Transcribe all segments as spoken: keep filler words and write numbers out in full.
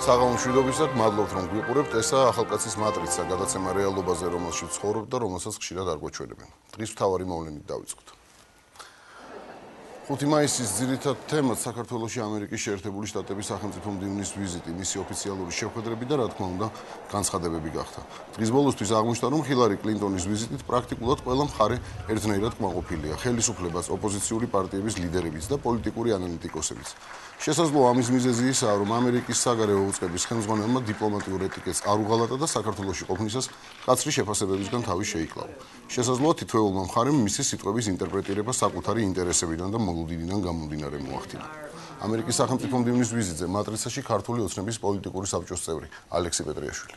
საღამომშვიდობისად მადლობთ რომ გვიყურებთ. ესაა ახალკაცის მატრიცა, გადაცემა რეალობაზე, რომელშიც ცხოვრობთ და რომელსაც ხშირად არ გვეჩვენებენ. დღის მთავარი მოვლენით დავიწყოთ. ხუთი მაისის ძირითად თემად საქართველოში ამერიკის შეერთებული შტატების სახელმწიფო მდივნის ვიზიტი, მისი ოფიციალური შეხვედრები და რა თქმა უნდა, განცხადებები გახდა. დღის ბოლოსთვის აღმოჩნდა, რომ ჰილარი კლინტონის ვიზიტით პრაქტიკულად ყველა მხარე ერთნაირად კმაყოფილია, ხელისუფლებას, ოპოზიციური პარტიების ლიდერებიც და პოლიტიკური ანალიტიკოსებიც. შესაძლოა ამის მიზეზი ისაა, რომ ამერიკის საგარეო უწყების ხელმძღვანელმა დიპლომატიურ ეტიკეტს არ უღალატა და საქართველოში ყოფნისას კაცრი შეფასებებისგან თავი შეიკლავა. შესაძლოა თითოეულმა მხარემ მისი სიტყვების ინტერპრეტირება საკუთარი ინტერესებიდან და მოლოდინიდან გამომდინარე მოახდინა. ამერიკის სახელმწიფო მდივნის ვიზიტზე მატრიცაში ქართული ოცნების პოლიტიკური საბჭოს წევრი ალექსი პეტრიაშვილი.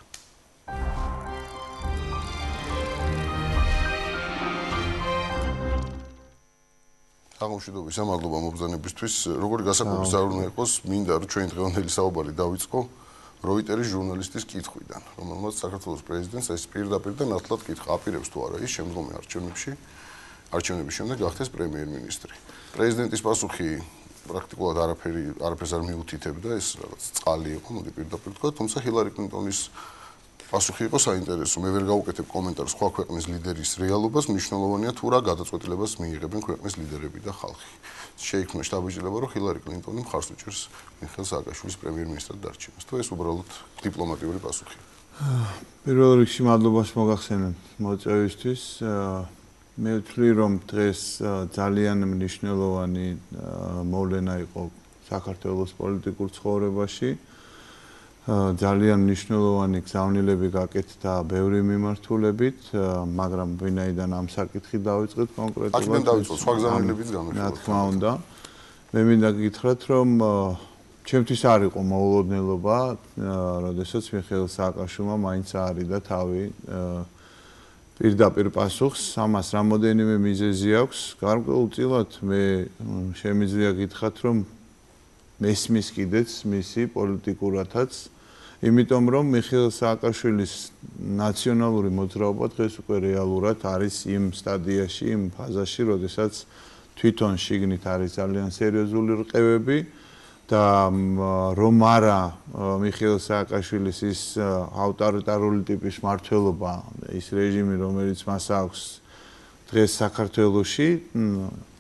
აღმოჩნდობისა მადლობა მობრძანებისთვის. როგორი გასაკვირის არ უნდა იყოს, მინდა რომ ჩვენ დღევანდელი საუბარი დავიწყო როიტერის ჟურნალისტის კითხვიდან, რომელმაც საქართველოს პრეზიდენტს ეს პირდაპირ და ნათლად კითხა, აპირებს თუ არა ის შემდგომი არჩევნებში, არჩევნების შემდეგ გახდეს პრემიერ-მინისტრი. პრეზიდენტის პასუხი პრაქტიკულად არაფერი არაფერს არ მიუთითებდა, ეს რაღაც წყალი იყო, მოდი პირდაპირ თქვა, თუმცა ჰილარი კლინტონის პასუხი იყო საინტერესო. მე ვერ გავუკეთებ კომენტარს სხვა ქვეყნის ლიდერის რეალობას, მნიშვნელოვანია თუ რა გადაწყვეტილებას მიიღებენ ქვეყნის ლიდერები და ხალხი. შეიქმნა შთაბეჭდილება, რომ ჰილარი კლინტონი მხარს უჭერს მიხეილ სააკაშვილის პრემიერ-მინისტრად დარჩენას. თუ ეს უბრალოდ დიპლომატიური პასუხია. პირველ რიგში მადლობას მოგახსენებთ მოწვევისთვის. მე ვთვლი, რომ დღეს ძალიან მნიშვნელოვანი მოვლენა იყო საქართველოს პოლიტიკურ ცხოვრებაში. ძალიან მნიშვნელოვანი გზავნილები გაკეთდა ბევრი მიმართულებით, მაგრამ ვინაიდან ამ საკითხით დავიწყეთ კონკრეტულად. აქედან დავიწყოთ, სხვა გზავნილებიც გამეშველა. რა თქმა უნდა. მე მინდა გითხრათ, რომ ჩემთვის არ იყო მოულოდნელობა, როდესაც მიხეილ სააკაშვილმა მაინც აარიდა თავი პირდაპირ პასუხს, ამას რამოდენიმე მიზეზი აქვს. გარკვეულწილად მე შემიძლია გითხრათ, რომ მესმის კიდეც მისი პოლიტიკურათაც, იმიტომ რომ მიხეილ სააკაშვილის ნაციონალური მოძრაობა დღეს უკვე რეალურად არის იმ სტადიაში, იმ ფაზაში, როდესაც თვითონ შიგნით არის ძალიან სერიოზული რყევები და რომ არა მიხეილ სააკაშვილის ის ავტორიტარული ტიპის მმართველობა, ის რეჟიმი, რომელიც მას აქვს დღეს საქართველოში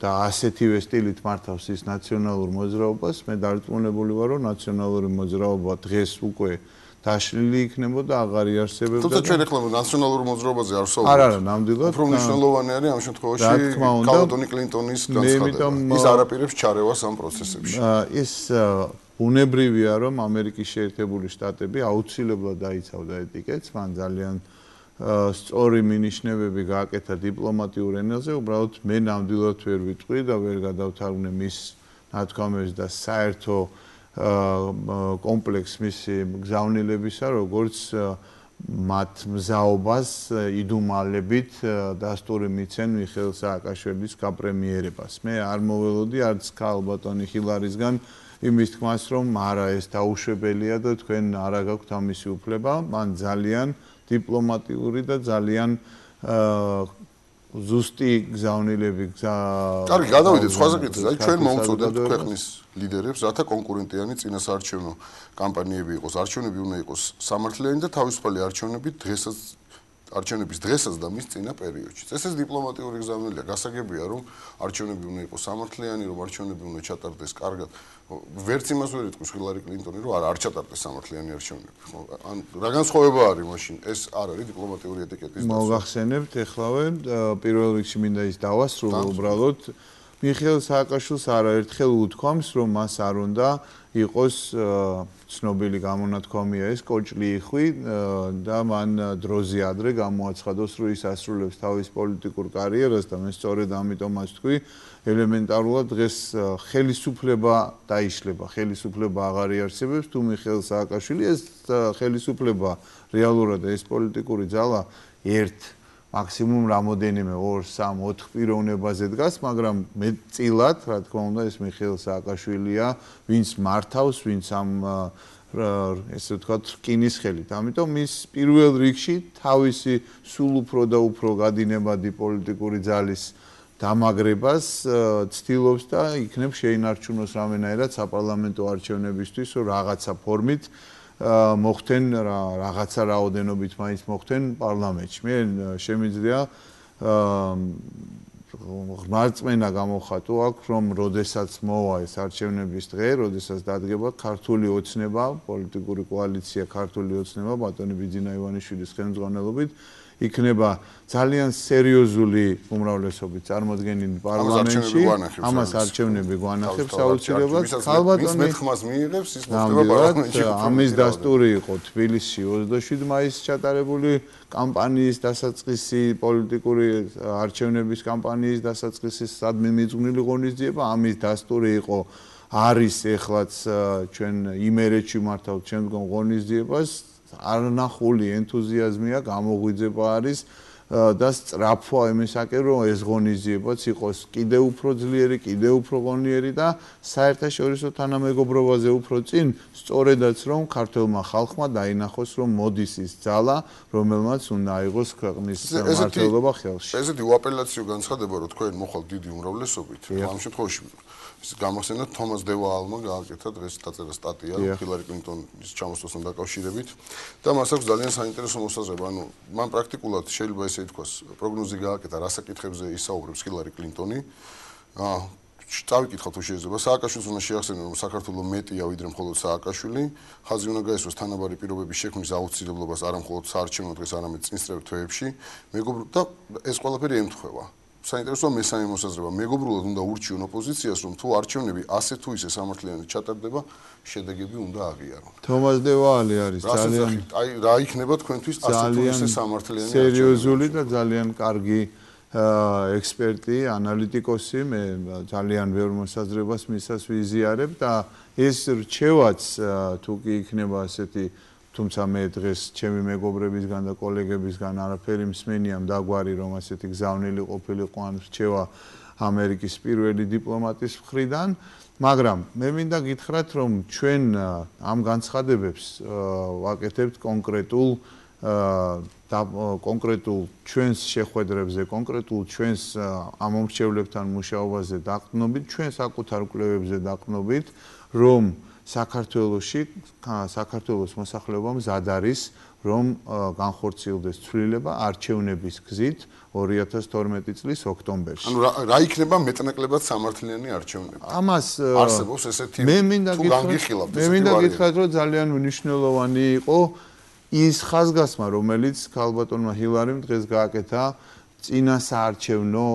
და ასეთივე სტილით მართავს ის ნაციონალურ მოძრაობას, მე დარწმუნებული ვარ, რომ ნაციონალური მოძრაობა დღეს უკვე დაშლილი იქნებოდა, აღარ იარსებებდა. თუმცა ჩვენ ახლა ნაციონალურ მოძრაობაზე არ ვსაუბრობთ. არა, არა, ნამდვილად. უფრო მნიშვნელოვანი არის ამ შემთხვევაში კალატონი კლინტონის განცხადება. ის არაპირებს ჩარევას ამ პროცესებში. ის უნებრივია, რომ ამერიკის შეერთებული შტატები აუცილებლად დაიცავდა ეტიკეტს, მან ძალიან სწორი მინიშნებები გააკეთა დიპლომატიურ ენაზე, უბრალოდ მე ნამდვილად ვერ ვიტყვი და ვერ გადავთარგმნე მის ნათქვამებს და საერთო კომპლექს მისი გზავნილებისა, როგორც მათ მზაობას იდუმალებით დასტური მიცენ მიხეილ სააკაშვილის გაპრემიერებას. მე არ მოველოდი არც ქალბატონი ჰილარისგან იმის თქმას, რომ არა ეს დაუშვებელია და თქვენ არ გაქვთ ამისი უფლება, მან ძალიან დიპლომატიური და ძალიან ზუსტი გზავნილები გზა. კარგი, გადავიდეთ სხვა საკითხზე. აი ჩვენ მოუწოდებთ ქვეყნის ლიდერებს, რათა კონკურენტიანი წინასაარჩევნო კამპანიები იყოს, არჩევნები უნდა იყოს სამართლიანი და თავისუფალი არჩევნები დღესაც არჩევნების დღესაც და მის წინა პერიოდში. ეს დიპლომატიური გზავნილია. გასაგებია, რომ არჩევნები უნდა იყოს სამართლიანი, რომ არჩევნები უნდა ჩატარდეს კარგად. ვერც იმას ვერ იტყვის ჰილარი კლინტონი, რომ არა არ ჩატარდეს სამართლიანი არჩევნები. ან რა განსხვავება არის მაშინ? ეს არ არის დიპლომატიური ეტიკეტის დასწრება. მოგახსენებთ ეხლავე პირველ რიგში მინდა ის დავასრულო უბრალოდ მიხეილ სააკაშვილს არაერთხელ უთქვამს, რომ მას არ უნდა იყოს ცნობილი გამონათქვამია ეს კოჭლი იხვი და მან დროზე ადრე გამოაცხადოს, რომ ის ასრულებს თავის პოლიტიკურ კარიერას და მე სწორედ ამიტომაც თქვი, ელემენტარულად დღეს ხელისუფლება დაიშლება, ხელისუფლება აღარ იარსებებს, თუ მიხეილ სააკაშვილი ეს ხელისუფლება რეალურად ეს პოლიტიკური ძალა ერთ მაქსიმუმ რამოდენიმე ორ სამ ოთხ პიროვნებაზე დგას, მაგრამ მეტწილად, რა თქმა უნდა, ეს მიხეილ სააკაშვილია, ვინც მართავს, ვინც ამ ესე ვთქვათ, რკინის ხელით. ამიტომ ის პირველ რიგში თავისი სულ უფრო და უფრო გადინებადი პოლიტიკური ძალის დამაგრებას ცდილობს და იქნებ შეინარჩუნოს რამენაირად საპარლამენტო არჩევნებისთვის, რომ რაღაცა ფორმით მოხდენ რაღაცა რაოდენობით მაინც მოხდენ პარლამენტში. მე შემიძლია ღმერთწმენა გამოხატო აქ, რომ როდესაც მოვა ეს არჩევნების დღე, როდესაც დადგება ქართული ოცნება, პოლიტიკური კოალიცია ქართული ოცნება ბატონი ბიძინა ივანიშვილის ხელმძღვანელობით იქნება ძალიან სერიოზული უმრავლესობით წარმოდგენილი პარლამენტში. ამას არჩევნები გვანახებს აუცილებლად. ქალბატონი მეთქმას მიიღებს, ის მოხდება პარლამენტში. ამის დასტური იყო თბილისში ოცდაშვიდი მაისს ჩატარებული კამპანიის დასაწყისი, პოლიტიკური არჩევნების კამპანიის დასაწყისი, სადმე მიძღვნილი ღონისძიება. ამის დასტური იყო არის ეხლაც ჩვენ იმერეთში მართავთ შემდგომ ღონისძიებას. არნახული ენთუზიაზმია, გამოღვიძება არის და სწრაფვა იმისაკენ, რომ ეს ღონისძიებაც იყოს კიდევ უფრო ძლიერი, კიდევ უფრო ღონიერი და საერთაშორისო თანამეგობრობაზე უფრო წინ, სწორედაც რომ ქართულმა ხალხმა დაინახოს, რომ მოდის ის ძალა, რომელმაც უნდა აიღოს ქვეყნის მმართველობა ხელში. ესეთი უაპელაციო განცხადება, რომ თქვენ მოხალთ დიდი უმრავლესობით, ამ შემთხვევაში გამახსენდა თომას დევაალმა გააკეთა დღეს დაწერა სტატია ჰილარი კლინტონის ჩამოსვლასთან დაკავშირებით და მას აქვს ძალიან საინტერესო მოსაზრება. ანუ მან პრაქტიკულად შეიძლება ესე ითქვას, პროგნოზი გააკეთა, რა საკითხებზე ისაუბრებს ჰილარი კლინტონი. აა წავიკითხავთ თუ შეიძლება. სააკაშვილს უნდა შეახსენო, რომ საქართველოს მეტია ვიდრე მხოლოდ სააკაშვილი. ხაზი უნდა გაესვას თანაბარი პირობების შექმნის აუცილებლობას არა მხოლოდ საარჩევნო დღეს, არამედ წინსწრებ თვეებში. მეგობრებო და ეს ყველაფერი ემთხვევა. საინტერესოა მესამე მოსაზრება. მეგობრულად უნდა ურჩიონ ოპოზიციას, რომ თუ არჩევნები ასე თუ ისე სამართლიანად ჩატარდება, შედეგები უნდა აღიარონ. თომას დევაალი არის ძალიან აი რა იქნება თქვენთვის ასე თუ ისე სამართლიანი სერიოზული და ძალიან კარგი ექსპერტი, ანალიტიკოსი, მე ძალიან ბევრ მოსაზრებას მისას ვიზიარებ და ეს რჩევაც თუ კი იქნება ასეთი თუმცა მე დღეს ჩემი მეგობრებისგან და კოლეგებისგან არაფერი მსმენია დაგვარი რომ ასეთი გზავნილი ყოფილიყო ან რჩევა ამერიკის პირველი დიპლომატის მხრიდან, მაგრამ მე მინდა გითხრათ რომ ჩვენ ამ განცხადებებს ვაკეთებთ კონკრეტულ და კონკრეტულ ჩვენს შეხვედრებზე, კონკრეტულ ჩვენს ამომრჩევლებთან მუშაობაზე დაყრდნობით, ჩვენ საკუთარ კვლევებზე დაყრდნობით, რომ საქართველოში საქართველოს მოსახლეობა მზად არის, რომ განხორციელდეს ცვლილება არჩევნების გზით ორი ათას თორმეტი წლის ოქტომბერში. ანუ რა იქნება მეტნაკლებად სამართლიანი არჩევნები? ამას არსებობს ესეთი თუ განგიხილავთ ესეთი. მე მინდა გითხრათ, რომ ძალიან მნიშვნელოვანი იყო ის ხაზგასმა, რომელიც ქალბატონმა ჰილარიმ დღეს გააკეთა წინა საარჩევნო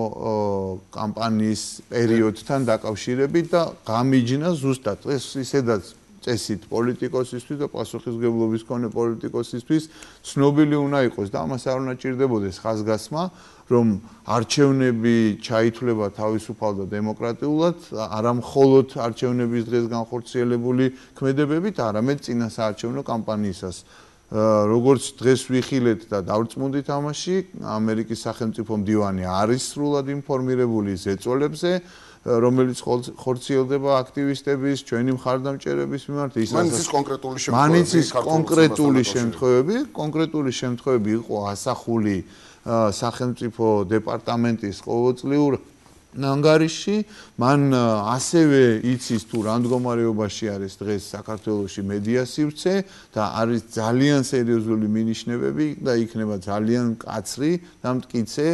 კამპანიის პერიოდთან დაკავშირებით და გამიჯნა ზუსტად ეს ისედაც წესით პოლიტიკოსისთვის და პასუხისმგებლობის მქონე პოლიტიკოსისთვის ცნობილი უნდა იყოს და ამას არ უნდა ჭირდებოდეს ხაზგასმა, რომ არჩევნები ჩაითვლება თავისუფალ და დემოკრატიულად, არა მხოლოდ არჩევნების დღეს განხორციელებული ქმედებებით, არამედ წინა საარჩევნო კამპანიისას. როგორც დღეს ვიხილეთ და დავრწმუნდით ამაში, ამერიკის სახელმწიფო მდივანი არის სრულად ინფორმირებული ზეწოლებზე, რომელიც ხორციელდება აქტივისტების, ჩვენი მხარდამჭერების მიმართ. მან ის კონკრეტული შემთხვევები, მან ის კონკრეტული შემთხვევები, კონკრეტული შემთხვევები იყო ასახული სახელმწიფო დეპარტამენტის ყოველწლიურ ნანგარიში, მან ასევე იცის თუ რა მდგომარეობაში არის დღეს საქართველოში მედია სივრცე და არის ძალიან სერიოზული მინიშნებები და იქნება ძალიან მკაცრი და მტკიცე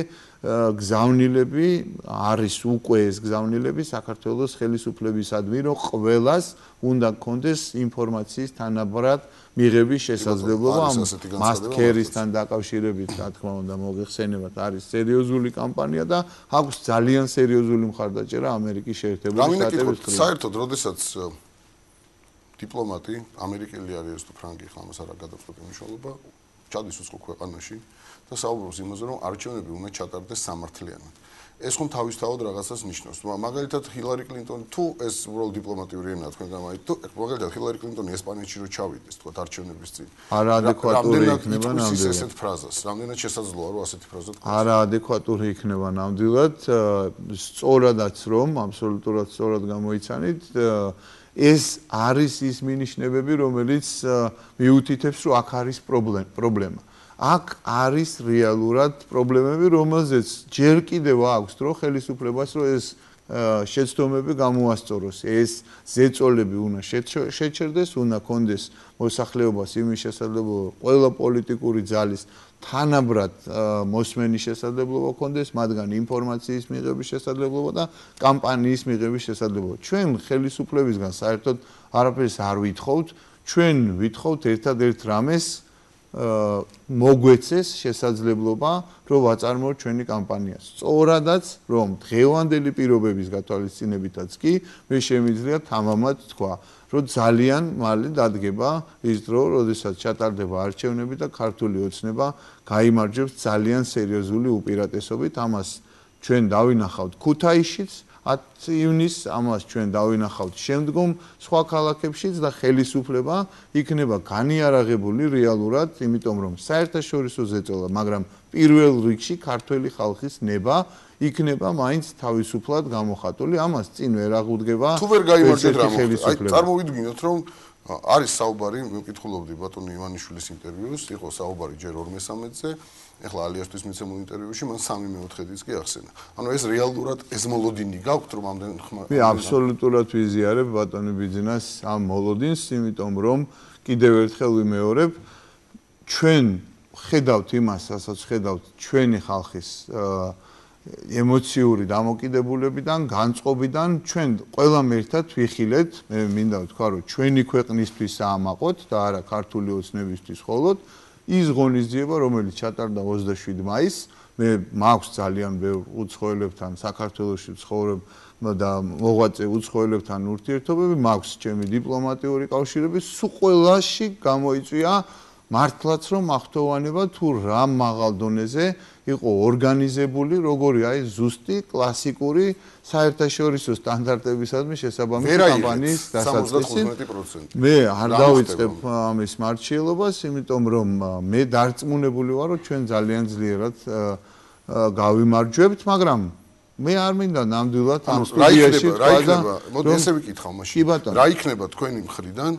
გზავნილები, არის უკვე ეს გზავნილები საქართველოს ხელისუფლებისადმი, რომ ყველას უნდა გქონდეს ინფორმაციის თანაბრად მიღების შესაძლებლობა ამ მასკერისთან დაკავშირებით, რა თქმა უნდა, მოგეხსენებათ, არის სერიოზული კამპანია და აქვს ძალიან სერიოზული მხარდაჭერა ამერიკის შეერთებული შტატების მხრიდან. საერთოდ, როდესაც დიპლომატი, ამერიკელი არის თუ ფრანგი, ხა ამას არ გადაწყვეტი მნიშვნელობა, ჩადის უცხო ქვეყანაში და საუბრობს იმაზე, რომ არჩევნები უნდა ჩატარდეს სამართლიანად. ეს ხომ თავისთავად რაღაცას ნიშნავს. მაგალითად, ჰილარი კლინტონი თუ ეს უბრალოდ დიპლომატიური ენაა თქვენ გამაით, თუ მაგალითად ჰილარი კლინტონი ესპანეთში რო ჩავიდეს, თქვა არჩევნების წინ. არაადეკვატური იქნება ნამდვილად. ესეთ ფრაზას, რამდენად შესაძლოა რომ ასეთი ფრაზა თქვა? არაადეკვატური იქნება ნამდვილად, სწორადაც რომ, აბსოლუტურად სწორად გამოიცანით, ეს არის ის მინიშნებები, რომელიც მიუთითებს, რომ აქ არის პრობლემა. აქ არის რეალურად პრობლემები, რომელზეც ჯერ კიდევ აქვს დრო ხელისუფლებას, რომ ეს შეცდომები გამოასწოროს. ეს ზეწოლები უნდა შეჩერდეს, უნდა კონდეს მოსახლეობას იმის შესაძლებლობა, ყველა პოლიტიკური ძალის თანაბრად მოსმენის შესაძლებლობა კონდეს, მათგან ინფორმაციის მიღების შესაძლებლობა და კამპანიის მიღების შესაძლებლობა. ჩვენ ხელისუფლებისგან საერთოდ არაფერს არ ვითხოვთ, ჩვენ ვითხოვთ ერთადერთ რამეს მოგვეცეს შესაძლებლობა, რომ ვაწარმოოთ ჩვენი კამპანია. სწორადაც, რომ დღევანდელი პირობების გათვალისწინებითაც კი მე შემიძლია თამამად თქვა, რომ ძალიან მალე დადგება ის დრო, როდესაც ჩატარდება არჩევნები და ქართული ოცნება გაიმარჯვებს ძალიან სერიოზული უპირატესობით. ამას ჩვენ დავინახავთ ქუთაისშიც, ათი ივნისს, ამას ჩვენ დავინახავთ შემდგომ სხვა ქალაქებშიც და ხელისუფლება იქნება განიარაღებული რეალურად, იმიტომ რომ საერთაშორისო ზეწოლა, მაგრამ პირველ რიგში ქართველი ხალხის ნება იქნება მაინც თავისუფლად გამოხატული. ამას წინ ვერ აღუდგება. თუ ვერ გაიმარჯვეთ რა მოხდა? აი წარმოვიდგინოთ რომ არის საუბარი, მე ვკითხულობდი ბატონი ივანიშვილის ინტერვიუს, იყო საუბარი ჯერ ორმესამედზე, ეხლა ალიასთვის მიცემულ ინტერვიუში მან სამი მეოთხედიც კი ახსენა. ანუ ეს რეალურად ეს მოლოდინი გაქვთ რომ ამდენ ხმა მე აბსოლუტურად ვიზიარებ ბატონი ბიძინას ამ მოლოდინს, იმიტომ რომ კიდევ ერთხელ ვიმეორებ, ჩვენ ხედავთ იმას, რასაც ხედავთ ჩვენი ხალხის ემოციური დამოკიდებულებიდან, განწყობიდან, ჩვენ ყველამ ერთად ვიხილეთ, მე მინდა ვთქვა, რომ ჩვენი ქვეყნისთვის აამაყოთ და არა ქართული ოცნებისთვის მხოლოდ ის ღონისძიება, რომელიც ჩატარდა ოცდაშვიდი მაისს, მე მაქვს ძალიან ბევრ უცხოელებთან საქართველოში ვცხოვრებ და მოღვაწე უცხოელებთან ურთიერთობები, მაქვს ჩემი დიპლომატიური კავშირები, სულ ყველაში გამოიწვია მართლაც რომ ახტოვანება თუ რა მაღალ დონეზე იყო ორგანიზებული, როგორი აი ზუსტი კლასიკური საერთაშორისო სტანდარტებისადმი შესაბამისი კამპანიის დასაწყისი. მე არ დავიწყებ ამის მარჩიელობას, იმიტომ რომ მე დარწმუნებული ვარ, რომ ჩვენ ძალიან ძლიერად გავიმარჯვებთ, მაგრამ მე არ მინდა ნამდვილად ამ სტუდიაში რა იქნება, მოდი ესე ვიკითხავ მაშინ. რა იქნება თქვენი მხრიდან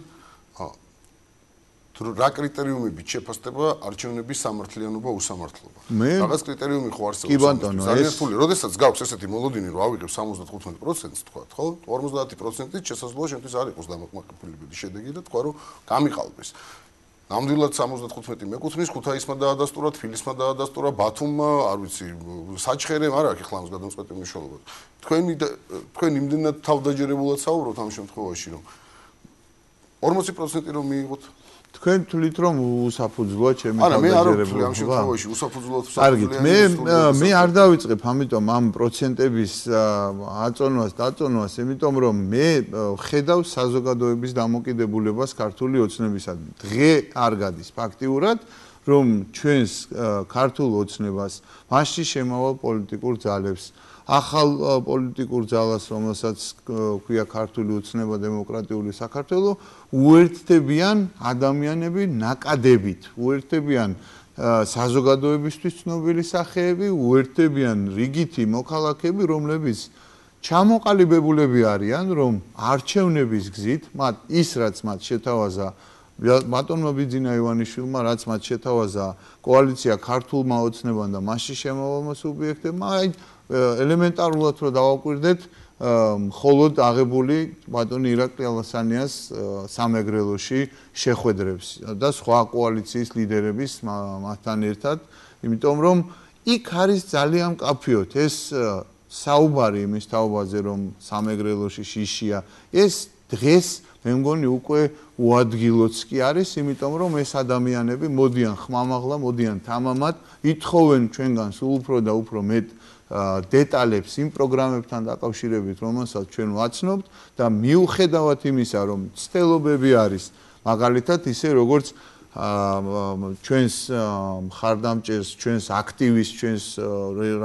რა კრიტერიუმებით შეფასდება არჩევნების სამართლიანობა უსამართლობა. რაღაც კრიტერიუმი ხო არსებობს. ძალიან რთული. როდესაც გაქვს ესეთი მოლოდინი, რომ ავიღებ სამოცდათხუთმეტ პროცენტს თქვა, ხო? ორმოცდაათი პროცენტით შესაძლოა შენთვის არ იყოს დამაკმაყოფილებელი შედეგი და თქვა, რომ გამიყალბეს. ნამდვილად სამოცდათხუთმეტი მეკუთვნის, ქუთაისმა დაადასტურა, თბილისმა დაადასტურა, ბათუმმა, არ ვიცი, საჩხერემ არ აქვს ახლა ამას გადამწყვეტი მნიშვნელობა. თქვენი თქვენ იმდენად თავდაჯერებულად საუბრობთ ამ შემთხვევაში, რომ ორმოცი პროცენტი რომ მიიღოთ თქვენ თვლით რომ უსაფუძვლოა ჩემი თავდაჯერებულება? არა, მე არ ვთვლი ამ შემთხვევაში უსაფუძვლოა თუ საფუძვლოა. მე მე არ დავიწყებ ამიტომ ამ პროცენტების აწონვას, დაწონვას, იმიტომ რომ მე ხედავ საზოგადოების დამოკიდებულებას ქართული ოცნებისადმი. დღე არ გადის ფაქტიურად, რომ ჩვენს ქართულ ოცნებას მასში შემავალ პოლიტიკურ ძალებს ახალ პოლიტიკურ ძალას, რომელსაც ქვია ქართული ოცნება დემოკრატიული საქართველო, უერთდებიან ადამიანები ნაკადებით, უერთდებიან საზოგადოებისთვის ცნობილი სახეები, უერთდებიან რიგითი მოქალაქეები, რომლებიც ჩამოყალიბებულები არიან, რომ არჩევნების გზით, მათ ის რაც მათ შეთავაზა ბატონმა ბიძინა ივანიშვილმა, რაც მათ შეთავაზა კოალიცია ქართულმა ოცნებამ და მასში შემავალმა სუბიექტებმა, აი ელემენტარულად რომ დავაკვირდეთ, მხოლოდ აღებული ბატონი ირაკლი ალასანიას სამეგრელოში შეხვედრებს და სხვა კოალიციის ლიდერების მასთან ერთად, იმიტომ რომ იქ არის ძალიან მკაფიოდ ეს საუბარი იმის თაობაზე, რომ სამეგრელოში შიშია, ეს დღეს მე მგონი უკვე უადგილოც კი არის, იმიტომ რომ ეს ადამიანები მოდიან ხმამაღლა, მოდიან თამამად, ითხოვენ ჩვენგან სულ უფრო და უფრო მეტ დეტალებს იმ პროგრამებთან დაკავშირებით, რომელსაც ჩვენ ვაცნობთ და მიუხედავად იმისა, რომ ცდელობები არის, მაგალითად ისე როგორც ჩვენს მხარდამჭერს, ჩვენს აქტივისტს, ჩვენს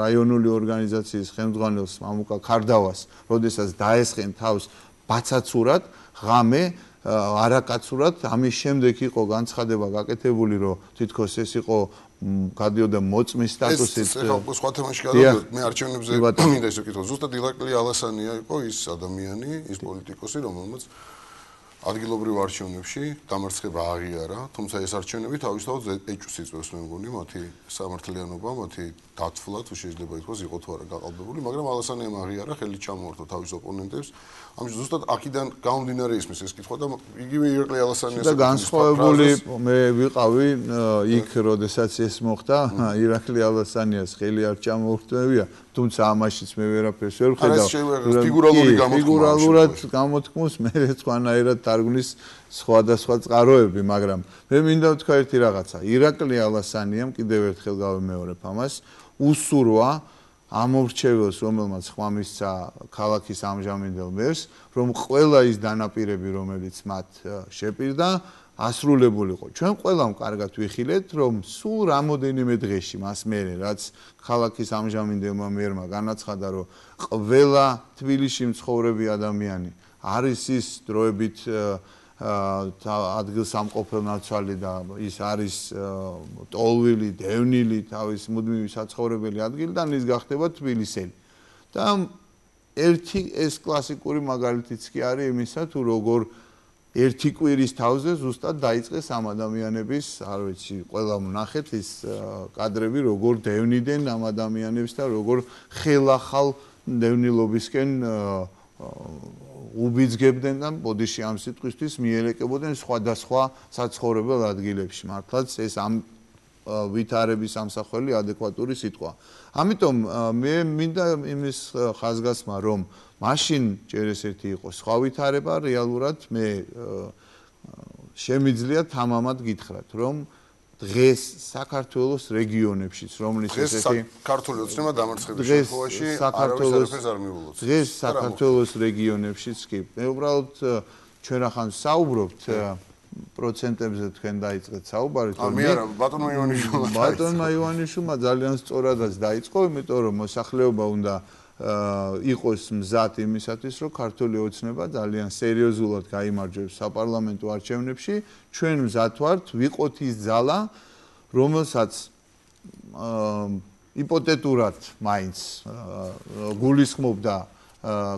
რაიონული ორგანიზაციის ხელმძღვანელს მამუკა ქარდავას, როდესაც დაესხენ თავს ბაცაცურად, ღამე არაკაცურად, ამის შემდეგ იყო განცხადება გაკეთებული, რომ თითქოს ეს იყო გადიოდა მოწმის სტატუსით. ეს ახლა სხვა თემაში გადავიდეთ, მე არჩევნებზე მინდა ისე ვკითხო, ზუსტად ირაკლი ალასანია იყო ის ადამიანი, ის პოლიტიკოსი, რომელმაც ადგილობრივ არჩევნებში დამარცხება აღიარა, თუმცა ეს არჩევნები თავისთავად ეჭვს იწვევს, მე მგონი, მათი სამართლიანობა, მათი დათვლა, თუ შეიძლება ითქვას, იყო თუ არა გაყალბებული, მაგრამ ალასანიამ აღიარა, ხელით ჩამოართვა თავის ოპონენტებს. ამიტომ ზუსტად აქედან გამომდინარე ისმის ეს კითხვა და იგივე ირაკლი ალასანიას და განსხვავებული მე ვიყავი იქ, როდესაც ეს მოხდა, ირაკლი ალასანიას ხელი არ ჩამოურთმევია, თუმცა ამაშიც მე ვერაფერს ვერ ვხედავ. ფიგურალური გამოთქმა. ფიგურალურად გამოთქმოს მე სხვანაირად თარგმნის სხვადასხვა წყაროები, მაგრამ მე მინდა ვთქვა ერთი რაღაცა. ირაკლი ალასანიამ კიდევ ერთხელ გავიმეორებ ამას, უსურვა ამორჩეველს, რომელმაც ხმა მისცა ქალაქის ამჟამინდელ მერს, რომ ყველა ის დანაპირები, რომელიც მათ შეპირდა, ასრულებულიყო. ჩვენ ყველამ კარგად ვიხილეთ, რომ სულ რამოდენიმე დღეში მას მერე, რაც ქალაქის ამჟამინდელმა მერმა განაცხადა, რომ ყველა თბილისში მცხოვრები ადამიანი არის ის დროებით ადგილსამყოფელნაცვალი და ის არის ტოლვილი, დევნილი, თავის მუდმივი საცხოვრებელი ადგილიდან ის გახდება თბილისელი. და ერთი ეს კლასიკური მაგალითიც კი არის იმისა, თუ როგორ ერთი კვირის თავზე ზუსტად დაიწყეს ამ ადამიანების, არ ვიცი, ყველა ვნახეთ ის კადრები, როგორ დევნიდნენ ამ ადამიანებს და როგორ ხელახალ დევნილობისკენ უბიძგებდნენ და ბოდიში ამ სიტყვისთვის მიელეკებოდნენ სხვადასხვა საცხოვრებელ ადგილებში. მართლაც ეს ამ ვითარების ამსახველი ადეკვატური სიტყვა. ამიტომ მე მინდა იმის ხაზგასმა, რომ მაშინ ჯერ ესეთი იყოს სხვა ვითარება, რეალურად მე შემიძლია თამამად გითხრათ, რომ დღეს საქართველოს რეგიონებშიც, რომლის ესეთი ქართული ოცნება დამარცხების შემთხვევაში არავის არ მიულოც. დღეს საქართველოს რეგიონებშიც კი. მე უბრალოდ ჩვენ ახლა საუბრობთ პროცენტებზე თქვენ დაიწყეთ საუბარი, თორემ მე არა, ბატონმა ივანიშვილმა ბატონმა ივანიშვილმა ძალიან სწორადაც დაიწყო, იმიტომ რომ მოსახლეობა უნდა იყოს მზად იმისათვის, რომ ქართული ოცნება ძალიან სერიოზულად გაიმარჯვებს საპარლამენტო არჩევნებში. ჩვენ მზად ვართ, ვიყოთ ის ძალა, რომელსაც იპოთეტურად მაინც გულისხმობდა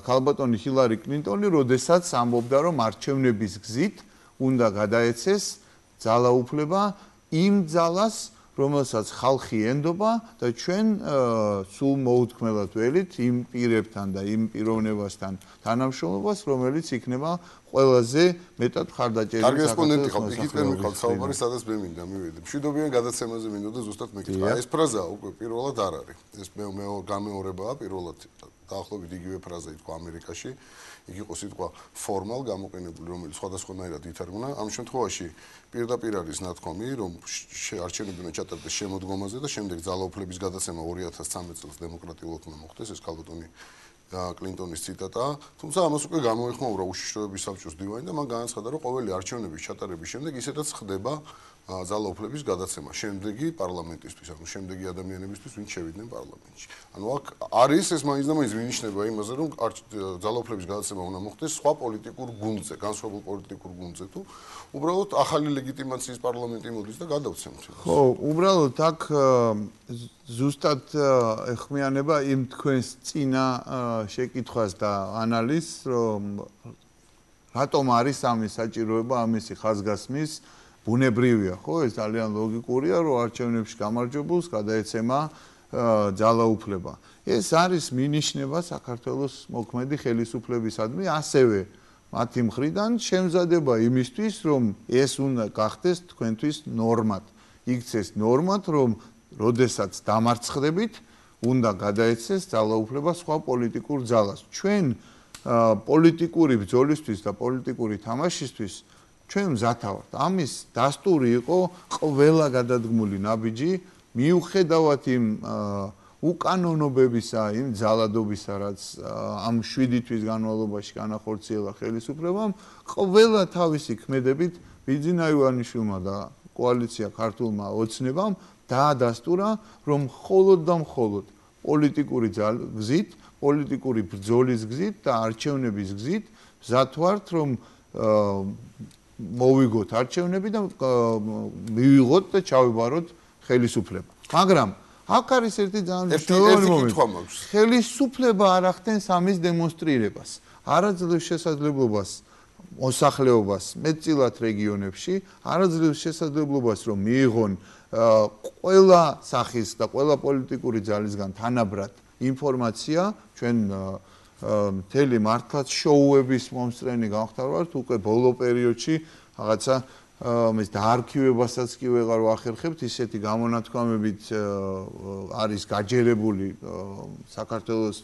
ქალბატონი ჰილარი კლინტონი, როდესაც ამბობდა, რომ არჩევნების გზით უნდა გადაეცეს ძალაუფლება იმ ძალას, რომელსაც ხალხი ენდობა და ჩვენ სულ მოუთქმელად ველით იმ პირებთან და იმ პიროვნებასთან თანამშრომლობას, რომელიც იქნება ყველაზე მეტად მხარდაჭერილი. კარგი რესპონდენტი ხალხი, იქიდან მიყავთ საუბარი, სადაც მე მინდა მივედი. მშვიდობიან გადაცემაზე მინდოდა ზუსტად მეკითხა. ეს ფრაზა უკვე პირველად არ არის. ეს მე მე გამეორებაა პირველად. დაახლოებით იგივე ფრაზა ითქვა ამერიკაში. იქ იყო სიტყვა formal გამოყენებული, რომელიც სხვადასხვანაირად ითარგმნა. ამ შემთხვევაში პირდაპირ არის ნათქვამი, რომ არჩევნები უნდა ჩატარდეს შემოდგომაზე და შემდეგ ძალაუფლების გადაცემა ორი ათას ცხრამეტ წელს დემოკრატიულად უნდა მოხდეს, ეს ქალბატონი კლინტონის ციტატაა. თუმცა ამას უკვე გამოეხმაურა უშიშროების საბჭოს დივანი და მან განაცხადა, რომ ყოველი არჩევნების ჩატარების შემდეგ ისედაც ხდება ძალაუფლების გადაცემა შემდეგი პარლამენტისთვის, ანუ შემდეგი ადამიანებისთვის, ვინც შევიდნენ პარლამენტში. ანუ აქ არის ეს მაინც და მაინც მინიშნება იმაზე, რომ ძალაუფლების გადაცემა უნდა მოხდეს სხვა პოლიტიკურ გუნდზე, განსხვავებულ პოლიტიკურ გუნდზე თუ უბრალოდ ახალი ლეგიტიმაციის პარლამენტი მოდის და გადავცემთ. ხო, უბრალოდ აქ ზუსტად ეხმიანება იმ თქვენს წინა შეკითხვას და ანალიზს, რომ რატომ არის ამის საჭიროება, ამისი ხაზგასმის ბუნებრივია, ხო, ეს ძალიან ლოგიკურია, რომ არჩევნებში გამარჯვებულს გადაეცემა ძალაუფლება. ეს არის მინიშნება საქართველოს მოქმედი ხელისუფლებისადმი, ასევე მათი მხრიდან შემზადება იმისთვის, რომ ეს უნდა გახდეს თქვენთვის ნორმად. იქცეს ნორმად, რომ როდესაც დამარცხდებით, უნდა გადაეცეს ძალაუფლება სხვა პოლიტიკურ ძალას. ჩვენ პოლიტიკური ბრძოლისთვის და პოლიტიკური თამაშისთვის ჩვენ მზად ვართ. ამის დასტური იყო ყველა გადადგმული ნაბიჯი, მიუხედავად იმ უკანონობებისა, იმ ძალადობისა, რაც ამ შვიდი თვის განმავლობაში განახორციელა ხელისუფლებამ, ყველა თავისი ქმედებით ბიძინა ივანიშვილმა და კოალიცია ქართულმა ოცნებამ დაადასტურა, რომ მხოლოდ და მხოლოდ პოლიტიკური გზით, პოლიტიკური ბრძოლის გზით და არჩევნების გზით მზად ვართ, რომ მოვიგოთ არჩევნები და მივიღოთ და ჩავიბაროთ ხელისუფლება. მაგრამ აქ არის ერთი ძალიან მნიშვნელოვანი მომენტი. ხელისუფლება არ ახდენს ამის დემონსტრირებას. არ აძლევს შესაძლებლობას მოსახლეობას მეტწილად რეგიონებში არაძლევს შესაძლებლობას რომ მიიღონ ყველა სახის და ყველა პოლიტიკური ძალისგან თანაბრად ინფორმაცია ჩვენ მთელი მართლაც შოუების მომსწრენი გავხდარვართ უკვე ბოლო პერიოდში რაღაცა მის დაარქივებასაც კი ვეღარ ვახერხებთ ისეთი გამონათქვამებით არის გაჯერებული საქართველოს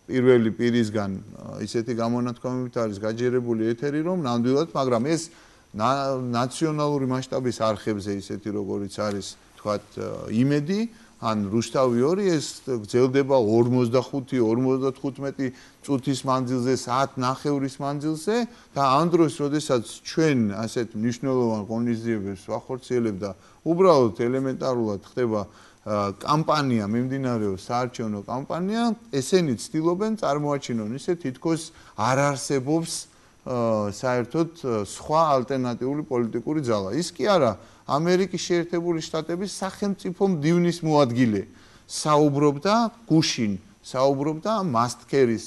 პირველი პირისგან ისეთი გამონათქვამებით არის გაჯერებული ეთერი რომ ნამდვილად მაგრამ ეს ნაციონალური მასშტაბის არხებზე ისეთი როგორიც არის თქვათ იმედი ან რუსთავი ორი ეს გრძელდება ორმოცდახუთი ორმოცდათხუთმეტი წუთის მანძილზე საათ ნახევრის მანძილზე და ამ დროს როდესაც ჩვენ ასეთ მნიშვნელოვან ღონისძიებებს ვახორციელებთ და უბრალოდ ელემენტარულად ხდება კამპანია მიმდინარეობს საარჩევნო კამპანია ესენი ცდილობენ წარმოაჩინონ ისე თითქოს არ არსებობს საერთოდ სხვა ალტერნატიული პოლიტიკური ძალა ის კი არა ამერიკის შეერთებული შტატების სახელმწიფო მდივნის მოადგილე საუბრობდა გუშინ საუბრობდა მასტკერის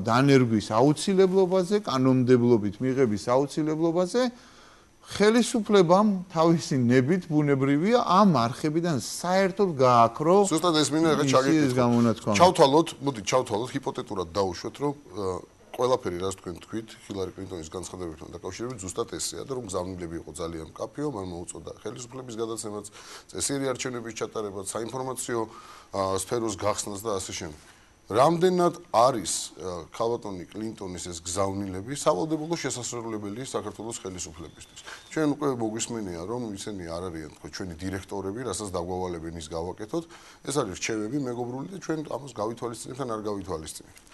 დანერგვის აუცილებლობაზე კანონმდებლობით მიღების აუცილებლობაზე ხელისუფლებამ თავისი ნებით ბუნებრივია ამ არხებიდან საერთოდ გააქრო ზუსტად ეს მინდა ახლა ჩაგეკითხო ჩავთვალოთ მოდი ჩავთვალოთ ჰიპოთეტურად დავუშვათ რომ ყველაფერი რაც თქვენ თქვით ჰილარი კლინტონის განცხადებებთან დაკავშირებით ზუსტად ესეა და რომ გზავნილები იყო ძალიან მკაფიო მან მოუწოდა ხელისუფლების გადაცემაც წესიერი არჩევნების ჩატარებაც საინფორმაციო სფეროს გახსნას და ასე შემდეგ რამდენად არის ქალბატონი კლინტონის ეს გზავნილები სავალდებულო შესასრულებელი საქართველოს ხელისუფლებისთვის ჩვენ უკვე მოგვისმენია რომ ისინი არ არიან თქო ჩვენი დირექტორები რასაც დაგვავალებენ ის გავაკეთოთ ეს არის რჩევები მეგობრული და ჩვენ ამას გავითვალისწინებთ ან არ გავითვალისწინებთ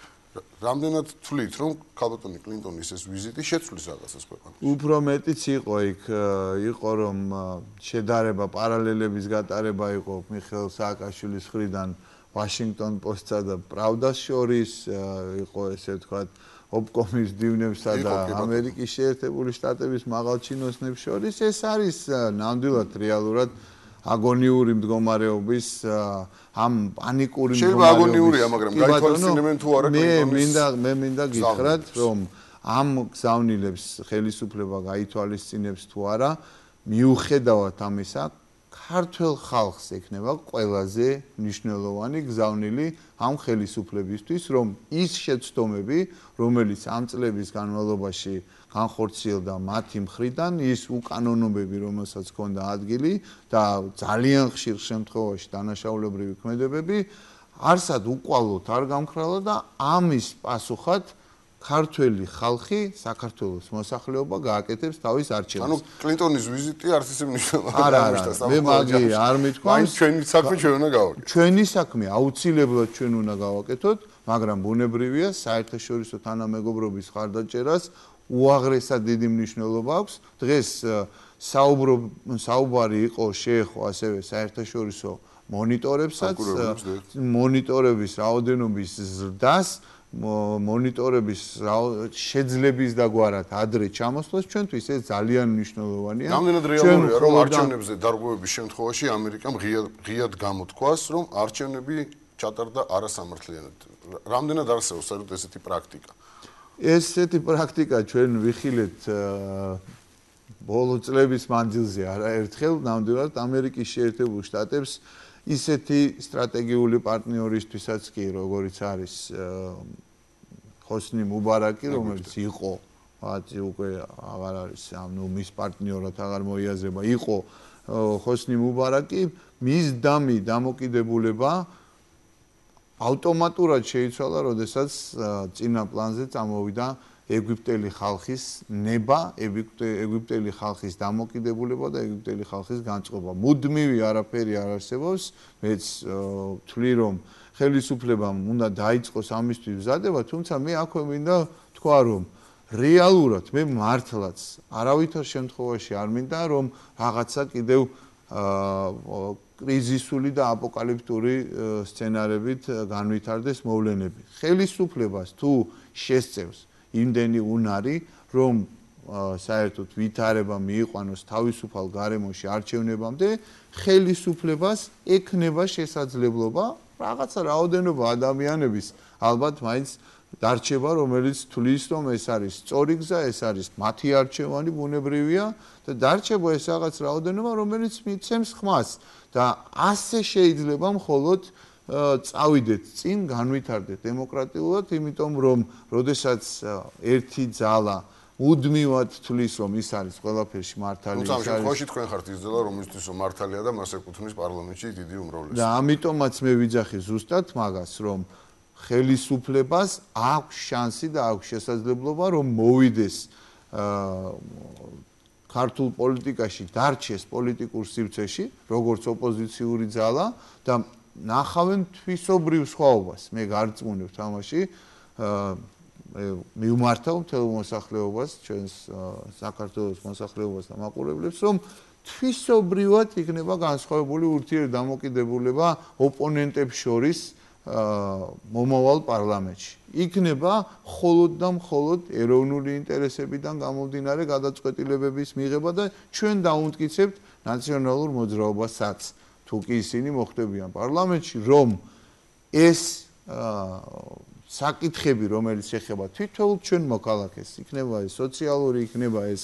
რამდენად თვლით რომ ქალბატონი კლინტონის ეს ვიზიტი შეცვლის რაღაცას ქვეყანაში უფრო მეტიც იყო იქ იყო რომ შედარება პარალელების გატარება იყო მიხეილ სააკაშვილის მხრიდან ვაშინგტონ პოსტსა და პრავდას შორის იყო ესე ვთქვათ ოპკომის დივნებსა და ამერიკის შეერთებული შტატების მაღალჩინოსნებს შორის ეს არის ნამდვილად რეალურად აგონიური მდგომარეობის ამ პანიკური მდგომარეობის შეიძლება აგონიურია მაგრამ გაითვალისწინებენ თუ არა მე მინდა მე მინდა გითხრათ რომ ამ გზავნილებს ხელისუფლება გაითვალისწინებს თუ არა მიუხედავად ამისა ქართულ ხალხს ექნება ყველაზე მნიშვნელოვანი გზავნილი ამ ხელისუფლებისთვის რომ ის შეცდომები რომელიც ამ წლების განმავლობაში განხორციელდა მათი მხრიდან ის უკანონოებები რომელსაც ჰქონდა ადგილი და ძალიან ხშირ შემთხვევაში დანაშაულებრივი ქმედებები არსად უკვალოდ არ გამქრალა და ამის პასუხად ქართველი ხალხი საქართველოს მოსახლეობა გააკეთებს თავის არჩევნებს. ანუ კლინტონის ვიზიტი არც ისე მნიშვნელოვანი არ არის. მე მაგი არ მithქვამს. ჩვენი საქმე ჩვენ უნდა გავაკეთოთ. ჩვენი საქმე აუცილებლად ჩვენ უნდა გავაკეთოთ, მაგრამ ბუნებრივია საერთაშორისო თანამეგობრობის ხარდაჭერას უაღრესად დიდი მნიშვნელობა აქვს. დღეს საუბრო საუბარი იყო შეეხო ასევე საერთაშორისო მონიტორებსაც, მონიტორების რაოდენობის ზრდას მონიტორების შეძლების დაგვარად ადრე ჩამოსვლას ჩვენთვის ეს ძალიან მნიშვნელოვანია. რამდენად რეალურია რომ არჩევნებზე დარღვევების შემთხვევაში ამერიკამ ღიად ღიად გამოთქვას რომ არჩევნები ჩატარდა არასამართლიანად. რამდენად არსებობს საერთოდ ესეთი პრაქტიკა? ესეთი პრაქტიკა ჩვენ ვიხილეთ ბოლო წლების მანძილზე არაერთხელ ნამდვილად ამერიკის შეერთებულ შტატებს ისეთი სტრატეგიული პარტნიორისთვისაც კი როგორიც არის ხოსნი მუბარაკი რომელიც იყო ვთქვი უკვე აღარ არის ანუ მის პარტნიორად აღარ მოიაზრება იყო ხოსნი მუბარაკი მის დამი დამოკიდებულება ავტომატურად შეიცვალა როდესაც წინა პლანზე წამოვიდა ეგვიპტელი ხალხის ნება, ეგვიპტელი ხალხის დამოკიდებულება და ეგვიპტელი ხალხის განწყობა. მუდმივი არაფერი არ არსებობს, მეც ვთვლი რომ ხელისუფლებამ უნდა დაიწყოს ამისთვის მზადება, თუმცა მე აქვე მინდა თქვა რომ რეალურად მე მართლაც არავითარ შემთხვევაში არ მინდა რომ რაღაცა კიდევ კრიზისული და აპოკალიფტური სცენარებით განვითარდეს მოვლენები. ხელისუფლებას თუ შესწევს იმდენი უნარი, რომ საერთოდ ვითარება მიიყვანოს თავისუფალ გარემოში არჩევნებამდე, ხელისუფლებას ექნება შესაძლებლობა რაღაცა რაოდენობა ადამიანების ალბათ მაინც დარჩება, რომელიც თulis რომ ეს არის სწორი გზა, ეს არის მათი არჩევანი ბუნებრივია და დარჩება ეს რაღაც რაოდენობა, რომელიც მიცემს ხმას და ასე შეიძლება მხოლოდ წავიდეთ წინ, განვითარდეთ დემოკრატიულად, იმიტომ რომ როდესაც ერთი ძალა უდმივად თulis რომ ის არის ყველაფერში მართალი, ის არის. თუმცა ამ თქვენ ხართ ის ძალა, რომელთვის რომ მართალია და მას ეკუთვნის პარლამენტში დიდი უმრავლესობა. და ამიტომაც მე ვიძახი ზუსტად მაგას, რომ ხელისუფლებას აქვს შანსი და აქვს შესაძლებლობა რომ მოვიდეს ქართულ პოლიტიკაში, დარჩეს პოლიტიკურ სივრცეში, როგორც ოპოზიციური ძალა და ნახავენ თვისობრივ სხვაობას. მე გარწმუნებ თამაში მივმართავ მთელ მოსახლეობას, ჩვენს საქართველოს მოსახლეობას და მაყურებლებს, რომ თვისობრივად იქნება განსხვავებული ურთიერთდამოკიდებულება ოპონენტებს შორის მომავალ პარლამენტში. იქნება მხოლოდ და მხოლოდ ეროვნული ინტერესებიდან გამომდინარე გადაწყვეტილებების მიღება და ჩვენ დაუნტკიცებთ ნაციონალურ მოძრაობასაც. თუ კი ისინი მოხდებიან პარლამენტში, რომ ეს საკითხები, რომელიც ეხება თითოეულ ჩვენ მოქალაქეს, იქნება ეს სოციალური, იქნება ეს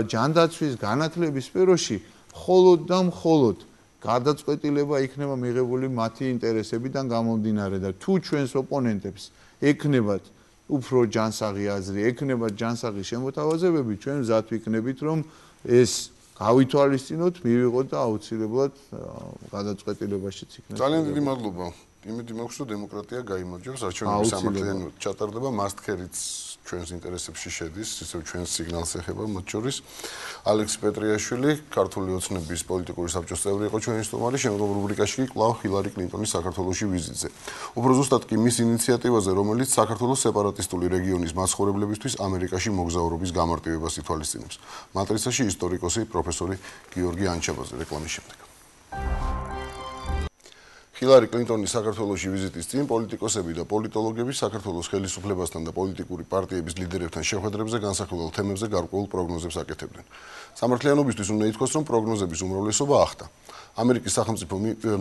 ჯანდაცვის, განათლების სფეროში, მხოლოდ და მხოლოდ გადაწყვეტილება იქნება მიღებული მათი ინტერესებიდან გამომდინარე და თუ ჩვენს ოპონენტებს ექნებათ უფრო ჯანსაღი აზრი, ექნებათ ჯანსაღი შემოთავაზებები, ჩვენ მზად ვიქნებით, რომ ეს გავითვალისწინოთ, მივიღოთ და აუცილებლად გადაწყვეტილებაშიც იქნება. ძალიან დიდი მადლობა. იმედი მაქვს, რომ დემოკრატია გაიმარჯვებს, არჩევნების სამართლიანობად ჩატარდება, მასტქერიც ჩვენს ინტერესებში შედის, ისევ ჩვენს სიგნალს ეხება მათ შორის. ალექსი პეტრიაშვილი, ქართული ოცნების პოლიტიკური საბჭოს წევრი იყო ჩვენი სტუმარი, შემდგომ რუბრიკაში კი კვლავ ჰილარი კლინტონის საქართველოში ვიზიტზე. უფრო ზუსტად კი მის ინიციატივაზე, რომელიც საქართველოს სეპარატისტული რეგიონის მაცხოვრებლებისთვის ამერიკაში მოგზაურობის გამარტივებას ითვალისწინებს. მატრიცაში ისტორიკოსი პროფესორი გიორგი ანჩაბაძე რეკლამის შემდეგ. ჰილარი კლინტონის საქართველოში ვიზიტის წინ პოლიტიკოსები და პოლიტოლოგები საქართველოს ხელისუფლებასთან და პოლიტიკური პარტიების ლიდერებთან შეხვედრებზე განსახილველ თემებზე გარკვეულ პროგნოზებს აკეთებდნენ. სამართლიანობისთვის უნდა ითქვას, რომ პროგნოზების უმრავლესობა ახდა. ამერიკის სახელმწიფო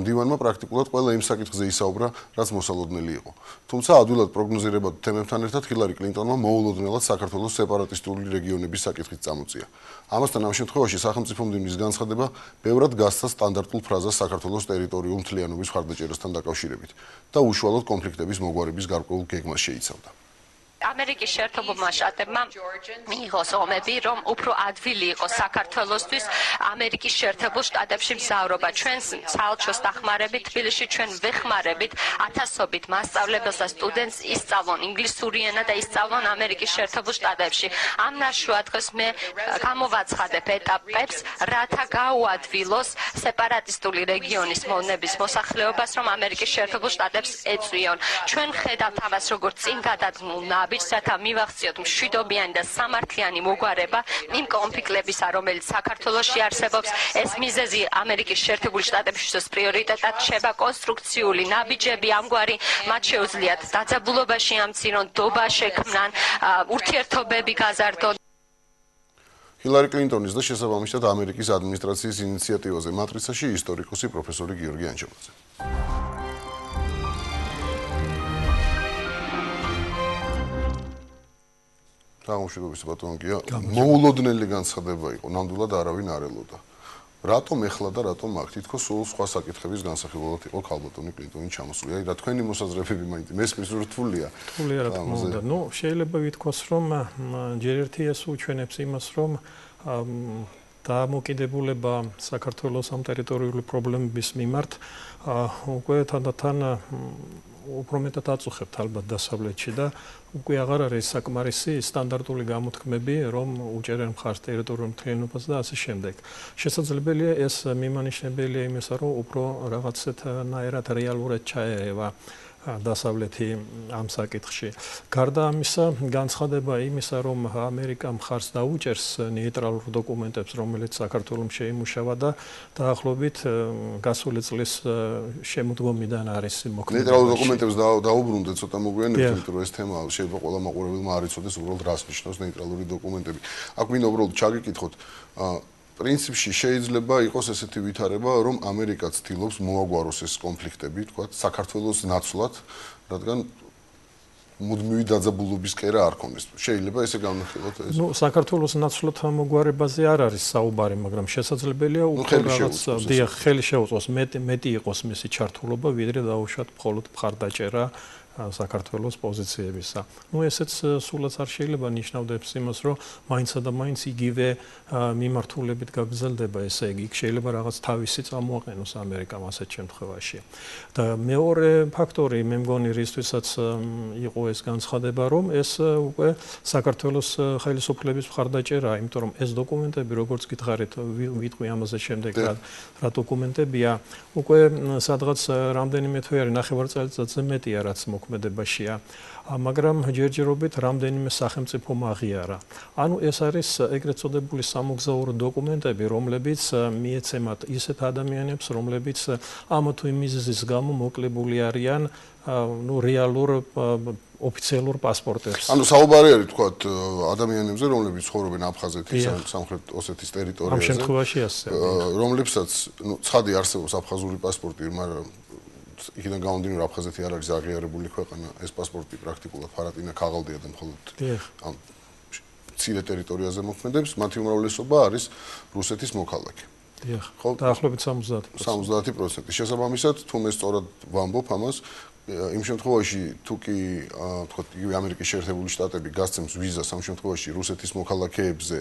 მდივანმა პრაქტიკულად ყველა იმ საკითხზე ისაუბრა, რაც მოსალოდნელი იყო. თუმცა ადვილად პროგნოზირებად თემებთან ერთად ჰილარი კლინტონმა მოულოდნელად საქართველოს სეპარატისტული რეგიონების საკითხით წამოწია. ამასთან ამ შემთხვევაში სახელმწიფო მდივნის განცხადება ბევრად გასცა სტანდარტულ ფრაზას საქართველოს ტერიტორიულ მთლიანობის მხარდაჭერასთან დაკავშირებით და უშუალოდ კონფლიქტების მოგვარების გარკვეულ გეგმას შეიცავდა. ამერიკის შეერთებულმა შტატებმა მიიღოს ომები, რომ უფრო ადვილი იყოს საქართველოსთვის ამერიკის შეერთებულ შტატებში მგზავრობა. ჩვენს საელჩოს დახმარებით, თბილისში ჩვენ ვეხმარებით ათასობით მასწავლებელს და სტუდენტს ისწავლონ ინგლისური ენა და ისწავლონ ამერიკის შეერთებულ შტატებში. ამ ნაშრომს მე გამოვაცხადებ ეტაპებს, რათა გაუადვილოს სეპარატისტული რეგიონის მონების მოსახლეობას, რომ ამერიკის შეერთებულ შტატებს ეწვიონ. ჩვენ ხედავთ ამას, როგორც წინ გადადგმულ ბიჭსათა მივახციოთ მშვიდობიანი და სამართლიანი მოგვარება იმ კონფლიქტებისა, რომელიც საქართველოში არსებობს. ეს მიზეზი ამერიკის შეერთებული შტატებისთვის პრიორიტეტად შეება კონსტრუქციული ნაბიჯები ამგვარი მათ შეუძლიათ დაძაბულობაში ამცირონ, დობა შექმნან, ურთიერთობები გაზარდონ. ჰილარი კლინტონის და შესაბამისად ამერიკის ადმინისტრაციის ინიციატივაზე მატრიცაში ისტორიკოსი პროფესორი გიორგი ანჩაბაძე. გამშვიდობის ბატონკია, მოულოდნელი განცხადება იყო, ნამდვილად არავინ არ ელოდა. რატომ ეხლა და რატომ აქ? თითქოს სულ სხვა საკითხების განსახილველად იყო ქალბატონი კლინტონი ჩამოსული. აი რა თქვენი მოსაზრებები მაინც მესმის რთულია. რთულია რა თქმა უნდა. ნუ შეიძლება ვითქვას, რომ ჯერ ერთი ეს უჩვენებს იმას, რომ დამოკიდებულება საქართველოს ამ ტერიტორიული პრობლემების მიმართ უკვე თანდათან უფრო მეტად აწუხებთ ალბათ დასავლეთში და უკვე აღარ არის საკმარისი სტანდარტული გამოთქმები, რომ უჭერენ მხარს ტერიტორიულ მთლიანობას და ასე შემდეგ. შესაძლებელია ეს მიმანიშნებელია იმისა, რომ უფრო რაღაცეთნაირად რეალურად ჩაერევა დასავლეთი ამ საკითხში. გარდა ამისა, განცხადება იმისა, რომ ამერიკა მხარს დაუჭერს ნეიტრალურ დოკუმენტებს, რომელიც საქართველოს შეიმუშავა და დაახლოებით გასული წლის შემოდგომიდან არის მოქმედებაში. ნეიტრალურ დოკუმენტებს დაუბრუნდეთ, ცოტა მოგვიანებით, იმიტომ რომ ეს თემა შეიძლება ყველა მაყურებელმა არ იცოდეს უბრალოდ რას ნიშნავს ნეიტრალური დოკუმენტები. აქ მინდა უბრალოდ ჩაგიკითხოთ, პრინციპში შეიძლება იყოს ესეთი ვითარება, რომ ამერიკა ცდილობს მოაგვაროს ეს კონფლიქტები, თქვა, საქართველოს ნაცვლად, რადგან მუდმივი დაძაბულობის კერა არ ქონდეს. შეიძლება ესე განვიხილოთ ეს. ნუ საქართველოს ნაცვლად მოგვარებაზე არ არის საუბარი, მაგრამ შესაძლებელია უფრო რაღაც დიახ ხელი შეუწყოს მეტი მეტი იყოს მისი ჩართულობა, ვიდრე დაუშვათ მხოლოდ მხარდაჭერა საქართველოს პოზიციებისა. ნუ ესეც სულაც არ შეიძლება ნიშნავდეს იმას, რომ მაინცა და მაინც იგივე მიმართულებით გაგრძელდება, ესე იგი, შეიძლება რაღაც თავისი წამოაყენოს ამერიკამ ასეთ შემთხვევაში. და მეორე ფაქტორი, მე მგონი, რისთვისაც იყო ეს განცხადება, რომ ეს უკვე საქართველოს ხელისუფლების მხარდაჭერაა, იმიტომ რომ ეს დოკუმენტები, როგორც გითხარით, ვიტყვი ამაზე შემდეგ რა რა დოკუმენტებია, უკვე სადღაც რამდენიმე თვე არის, ნახევარწელიწადზე მეტია, რაც მოქმედებაშია, მაგრამ ჯერჯერობით რამდენიმე სახელმწიფომ აღიარა. ანუ ეს არის ეგრეთ წოდებული სამოგზაურო დოკუმენტები, რომლებიც მიეცემათ ისეთ ადამიანებს, რომლებიც ამ თუ იმ მიზეზის გამო მოკლებული არიან ნუ რეალურ ოფიციალურ პასპორტებს. ანუ საუბარი არის თქვათ ადამიანებზე, რომლებიც ცხოვრობენ აფხაზეთის ან სამხრეთ ოსეთის ტერიტორიაზე. ამ შემთხვევაში ასე. რომლებსაც ნუ ცხადი არსებობს აფხაზური პასპორტი, მაგრამ იქიდან გამომდინარე აფხაზეთი არ არის აღიარებული ქვეყანა, ეს პასპორტი პრაქტიკულად ფარატინა ქაღალდია და მხოლოდ ამ მცირე ტერიტორიაზე მოქმედებს, მათი უმრავლესობა არის რუსეთის მოქალაქე. დიახ. დაახლოებით სამოცდაათი პროცენტი. სამოცდაათი პროცენტი. შესაბამისად, თუ მე სწორად ვამბობ ამას, იმ შემთხვევაში თუ კი თქვათ იგივე ამერიკის შეერთებული შტატები გასცემს ვიზას ამ შემთხვევაში რუსეთის მოქალაქეებზე,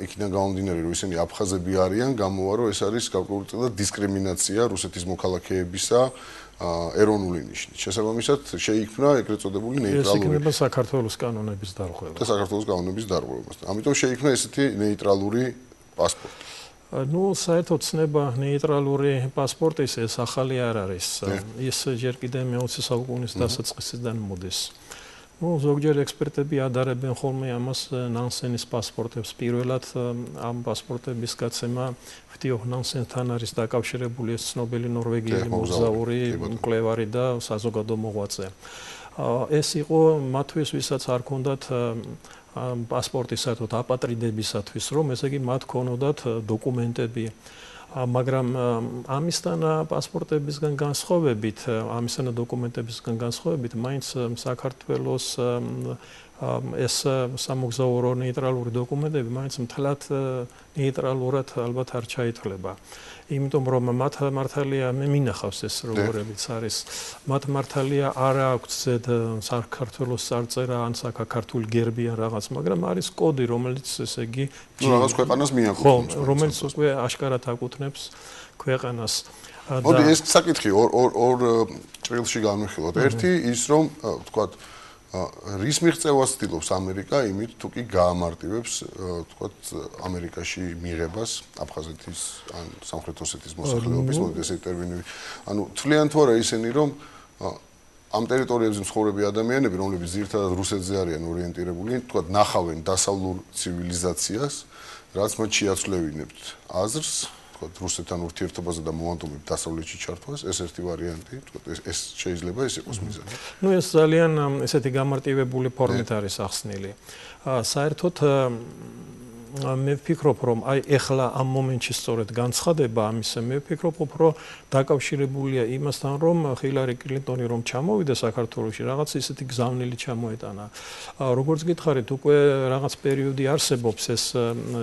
იქიდან გამომდინარე რომ ისინი აფხაზები არიან, გამოვა რომ ეს არის გარკვეულწილად დისკრიმინაცია რუსეთის მოქალაქეებისა ეროვნული ნიშნით. შესაბამისად, შეიქმნა ეგრეთ წოდებული ნეიტრალური. ეს იქნება საქართველოს კანონების დარღვევა. და საქართველოს კანონების დარღვევა. ამიტომ შეიქმნა ესეთი ნეიტრალური პასპორტი. ნუ საერთოდ ცნება ნეიტრალური პასპორტის ეს ახალი არ არის. ის ჯერ კიდევ მეოცე საუკუნის დასაწყისიდან მოდის. ნუ ზოგჯერ ექსპერტები ადარებენ ხოლმე ამას ნანსენის პასპორტებს. პირველად ამ პასპორტების გაცემა ვთიო ნანსენთან არის დაკავშირებული ეს ცნობილი ნორვეგიელი მოგზაური, მკვლევარი და საზოგადო მოღვაწე. ეს იყო მათთვის, ვისაც არ ქონდათ პასპორტი საერთოდ აპატრიდებისათვის, რომ ესე იგი მათ ქონოდათ დოკუმენტები, მაგრამ ამისთან პასპორტებისგან განსხვავებით, ამისთან დოკუმენტებისგან განსხვავებით, მაინც საქართველოს ეს სამოგზაურო ნეიტრალური დოკუმენტები მაინც მთლად ნეიტრალურად ალბათ არ ჩაითვლება. იმიტომ რომ მათ მართალია მე მინახავს ეს როგორებიც არის, მათ მართალია არ აქვს ზედ საქართველოს წარწერა ან საქართველოს გერბი ან რაღაც, მაგრამ არის კოდი, რომელიც ესე იგი რაღაც ქვეყანას მიაკუთვნებს. ხო, რომელიც უკვე აშკარად აკუთვნებს ქვეყანას. მოდი ეს საკითხი ორ ორ ორ ჭრილში განვიხილოთ. ერთი ის რომ ვთქვათ რის მიღწევას ცდილობს ამერიკა იმით თუ კი გაამარტივებს ვთქვათ ამერიკაში მიღებას აფხაზეთის ან სამხრეთ ოსეთის მოსახლეობის მოდი ესე ტერმინი ანუ თვლიან თუ არა ისინი რომ ამ ტერიტორიებზე მცხოვრები ადამიანები რომლებიც ძირითადად რუსეთზე არიან ორიენტირებული ვთქვათ ნახავენ დასავლურ ცივილიზაციას რაც მათ შეაცვლევინებთ აზრს რუსეთთან ურთიერთობაზე და მომავდომებ დასავლეთში ჩართვას, ეს ერთი ვარიანტი, თქო, ეს შეიძლება ეს იყოს მიზანი. ნუ ეს ძალიან ესეთი გამარტივებული ფორმით არის ახსნილი. საერთოდ მე ვფიქრობ, რომ აი ეხლა ამ მომენტში სწორედ განცხადება ამისა, მე ვფიქრობ, უფრო დაკავშირებულია იმასთან, რომ ჰილარი კლინტონი რომ ჩამოვიდა საქართველოში, რაღაც ისეთი გზავნილი ჩამოეტანა. როგორც გითხარით, უკვე რაღაც პერიოდი არსებობს ეს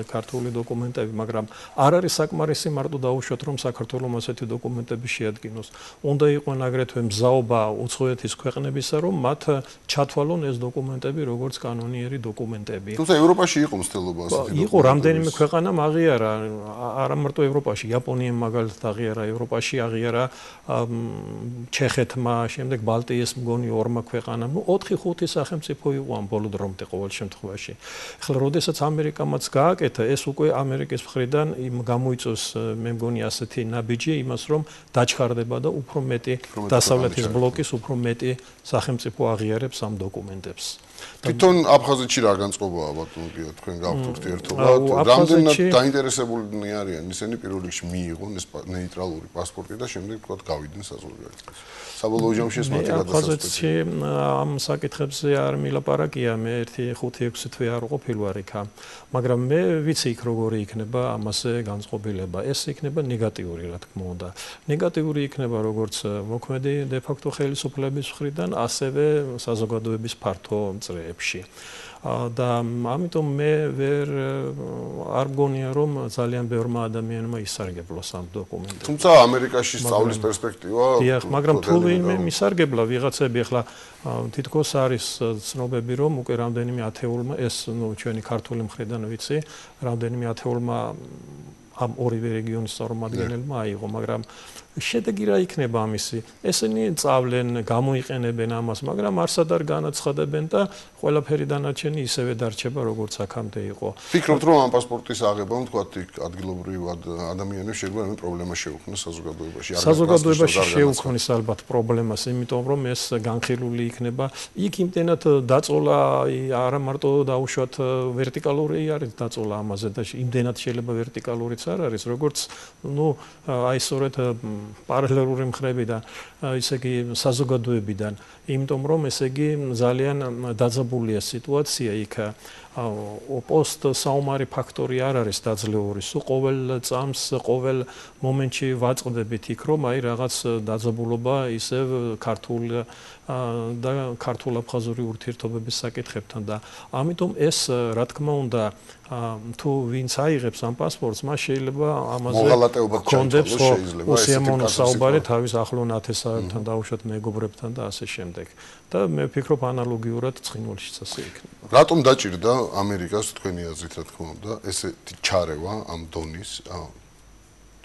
ქართული დოკუმენტები, მაგრამ არ არის საკმარისი მარტო დაუშვათ, რომ საქართველოს ასეთი დოკუმენტები შეადგინოს. უნდა იყვნენ აგრეთვე მზაობა უცხოეთის ქვეყნებისა, რომ მათ ჩათვალონ ეს დოკუმენტები როგორც კანონიერი დოკუმენტები. თუმცა ევროპაში იყო მცდელობა ასეთი იყო რამდენიმე ქვეყანამ აღიარა, არა მარტო ევროპაში, იაპონიამ მაგალითად აღიარა, ევროპაში აღიარა ჩეხეთმა, შემდეგ ბალტიის მგონი ორმა ქვეყანამ, ნუ ოთხი ხუთი სახელმწიფო იყო ამ ბოლო დრომდე ყოველ შემთხვევაში. ახლა როდესაც ამერიკამაც გააკეთა, ეს უკვე ამერიკის მხრიდან გამოიწვევს, მე მგონი ასეთი ნაბიჯი იმას, რომ დაჩქარდება და უფრო მეტი დასავლეთის ბლოკის უფრო მეტი სახელმწიფო აღიარებს ამ დოკუმენტებს. თვითონ აფხაზეთში რა განწყობაა ბატონო თქვენ გავთ ურთიერთობა რამდენად დაინტერესებულნი არიან ისინი პირველ რიგში მიიღონ ეს ნეიტრალური პასპორტი და შემდეგ თქვა გავიდნენ საზღვარგარეთში საბოლოო ჯამში ეს მათი აფხაზეთში ამ საკითხებზე არ მილაპარაკია მე ერთი ხუთი ექვსი თვე არ ყოფილ ვარ იქა მაგრამ მე ვიცი იქ როგორი იქნება ამაზე განწყობილება ეს იქნება ნეგატიური რა თქმა უნდა ნეგატიური იქნება როგორც მოქმედი დე ფაქტო ხელისუფლების მხრიდან ასევე საზოგადოების ფართო წრეებში და ამიტომ მე ვერ არ მგონია რომ ძალიან ბევრმა ადამიანმა ისარგებლოს ამ დოკუმენტებს. თუმცა ამერიკაში სწავლის პერსპექტივა დიახ, მაგრამ თუ ვინმე მისარგებლა ვიღაცები ახლა თითქოს არის ცნობები რომ უკვე რამდენიმე ათეულმა ეს ნუ ჩვენი ქართული მხრიდან ვიცი, რამდენიმე ათეულმა ამ ორივე რეგიონის წარმომადგენელმა აიღო, მაგრამ შედეგი რა იქნება ამისი? ესენი წავლენ, გამოიყენებენ ამას, მაგრამ არსად არ განაცხადებენ და ყველაფერი დანარჩენი ისევე დარჩება, როგორც აქამდე იყო. ფიქრობთ, რომ ამ პასპორტის აღებამ, თქვათ, ადგილობრივ ადამიანებს შეგვიძლია ამ პრობლემას შეუქმნას საზოგადოებაში? საზოგადოებაში შეუქმნის ალბათ პრობლემას, იმიტომ რომ ეს განხილული იქნება. იქ იმდენად დაწოლა არა მარტო დაუშვათ ვერტიკალური არის დაწოლა ამაზე და იმდენად შეიძლება ვერტიკალურიც არ არის, როგორც ნუ აი სწორედ პარალელური მხრებიდან, ისე იგი საზოგადოებიდან, იმიტომ რომ ესე იგი ძალიან დაძაბულია სიტუაცია იქ პოსტ საომარი ფაქტორი არ არის დაძლეული. სულ ყოველ წამს, ყოველ მომენტში ვაწყდებით იქ, რომ აი რაღაც დაძაბულობა ისევ ქართულ და ქართულ-აფხაზური ურთიერთობების საკითხებთან და ამიტომ ეს რა თქმა უნდა თუ ვინც აიღებს ამ პასპორტს, მას შეიძლება ამაზე კონდებს უსიამოვნო საუბარი თავის ახლო ნათესავებთან, დაუშვათ მეგობრებთან და ასე შემდეგ. და მე ვფიქრობ ანალოგიურად ცხინვალიშიც ასე იქნება. რატომ დაჭირდა ამერიკას თქვენი აზრით, რა თქმა უნდა, ესეთი ჩარევა ამ დონის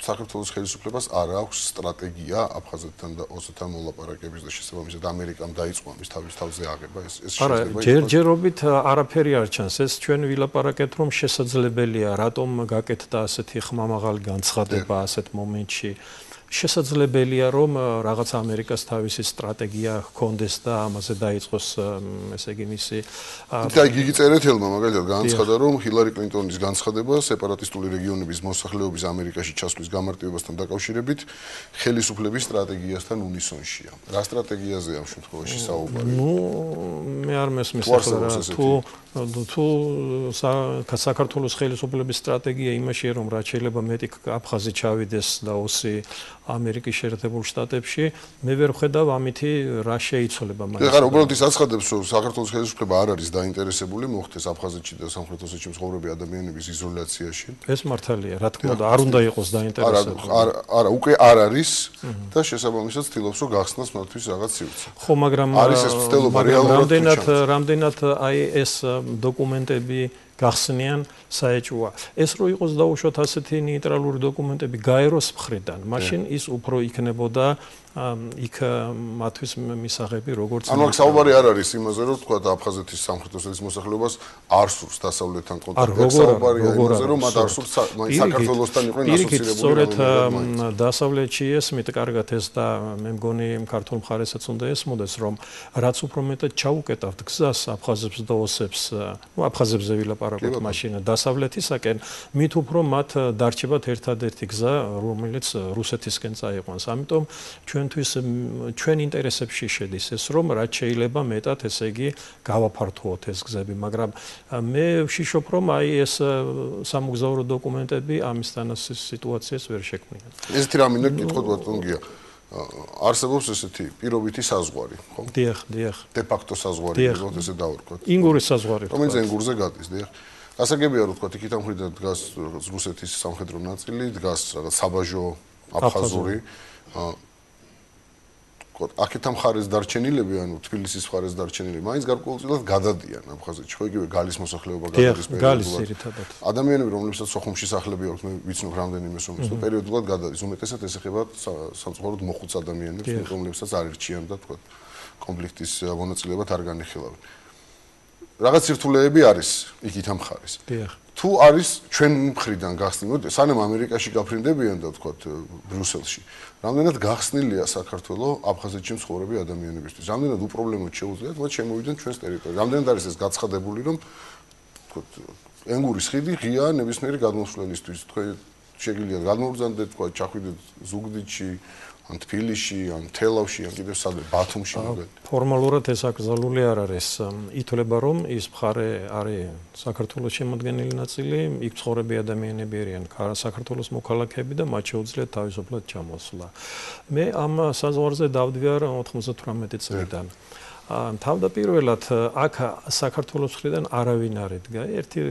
საქართველოს ხელისუფლებას არ აქვს სტრატეგია აფხაზეთთან და ოსეთთან მოლაპარაკების და შესაბამისად ამერიკამ დაიწყო ამის თავის თავზე აღება ეს ეს შეიძლება ჯერჯერობით არაფერი არ ჩანს ეს ჩვენ ვილაპარაკეთ რომ შესაძლებელია რატომ გაკეთდა ასეთი ხმამაღალი განცხადება ასეთ მომენტში შესაძლებელია რომ რაღაც ამერიკას თავისი სტრატეგია ჰქონდეს და ამაზე დაიწყოს ესე იგი მისი და იგი წერეთელმა მაგალითად განცხადა რომ ჰილარი კლინტონის განცხადება სეპარატისტული რეგიონების მოსახლეობის ამერიკაში ჩასვლის გამარტივებასთან დაკავშირებით ხელისუფლების სტრატეგიასთან უნისონშია. რა სტრატეგიაზეა ამ შემთხვევაში საუბარი? ნუ მე არ მესმის ახლა თუ თუ საქართველოს ხელისუფლების სტრატეგია იმაშია რომ რაც შეიძლება მეტი აფხაზი ჩავიდეს და ოსი ამერიკის შეერთებულ შტატებში მე ვერ ვხედავ ამითი რა შეიცვლება მაგას. ეხლა უბრალოდ ის აცხადებს რომ საქართველოს ხელისუფლება არ არის დაინტერესებული მოხდეს აფხაზეთში და სამხრეთ ოსეთში მცხოვრები ადამიანების იზოლაციაში. ეს მართალია, რა თქმა უნდა, არ უნდა იყოს დაინტერესებული. არა, არა, უკვე არ არის და შესაბამისად ცდილობს რომ გახსნას მათთვის რაღაც სივრცე. ხო, მაგრამ არის ეს ცდელობა რეალურად რამდენად რამდენად აი ეს დოკუმენტები გახსნიან საეჭვოა. ეს რო იყოს დაუშვათ ასეთი ნეიტრალური დოკუმენტები გაეროს მხრიდან, მაშინ ის უფრო იქნებოდა იქ მათთვის მისაღები როგორც ანუ აქ საუბარი არ არის იმაზე რომ თქვა აფხაზეთის სამხრეთ ოსეთის მოსახლეობას არ სურს დასავლეთთან კონტაქტი საუბარია იმაზე რომ მათ არ სურს საქართველოსთან იყვნენ ასოცირებული სწორედ დასავლეთში ესმით კარგად ეს და მე მგონი ქართულ მხარესაც უნდა ესმოდეს რომ რაც უფრო მეტად ჩაუკეტავთ გზას აფხაზებს და ოსებს ნუ აფხაზებზე ვილაპარაკოთ მაშინ დასავლეთისაკენ მით უფრო მათ დარჩებათ ერთადერთი გზა რომელიც რუსეთისკენ წაიყვანს ამიტომ ჩვენ ჩვენ ინტერესებში შედის ეს რომ რაც შეიძლება მეტად ესე იგი გავაფართოოთ ეს გზები მაგრამ მე ვშიშობ რომ აი ეს სამოგზაურო დოკუმენტები ამისთან სიტუაციას ვერ შექმნიან ესეთი რამე მინდა გითხოთ ბატონგია არსებობს ესეთი პირობითი საზღვარი ხო დიახ დიახ დე ფაქტო საზღვარი როგორც ესე დავარქვათ ინგურის საზღვარი რომელიც ენგურზე გადის დიახ გასაგებია რომ თქვა იქით ამ მხრიდან დგას რუსეთის სამხედრო ნაწილი დგას რაღაც საბაჟო აფხაზური აქეთ ამ ხარეს დარჩენილები ანუ თბილისის ხარეს დარჩენილები მაინც გარკვეულწილად გადადიან აფხაზეთში ხო იგივე გალის მოსახლეობა გადადის პერიოდულად ადამიანები რომლებსაც სოხუმში სახლები აქვს მე ვიცნობ რამდენიმე სომხს და პერიოდულად გადადის უმეტესად ეს ეხება სამწუხაროდ მოხუც ადამიანებს რომლებსაც არ ირჩიან და თქვა კონფლიქტის მონაწილეობად არ განიხილავენ რაღაც სირთულეები არის იქით ამ ხარეს თუ არის ჩვენ მხრიდან გახსნილი, სანამ ამერიკაში გაფრინდებიან და ვთქვათ ბრიუსელში, რამდენად გახსნილია საქართველოს აფხაზეთში მცხოვრები ადამიანებისთვის. რამდენად უპრობლემოდ შეუძლიათ მათ შემოვიდნენ ჩვენს ტერიტორიაზე. რამდენად არის ეს გაცხადებული, რომ ვთქვათ ენგურის ხიდი ღია ნებისმიერი გადმოსვლელისთვის. თქვენ შეგიძლიათ გადმოვბრძანდეთ, ვთქვათ, ჩახვიდეთ ზუგდიდში, ან თბილისში, ან თელავში, ან კიდევ სადმე ბათუმში მაგალითად. ფორმალურად ეს აკრძალული არ არის. ითვლება, რომ ის მხარე არის საქართველოს შემადგენელი ნაწილი, იქ მცხოვრები ადამიანები არიან საქართველოს მოქალაქეები და მათ შეუძლიათ თავისუფლად ჩამოსვლა. მე ამ საზღვარზე დავდივარ ოთხმოცდათვრამეტი წლიდან. თავდაპირველად აქ საქართველოს მხრიდან არავინ არ იდგა. ერთი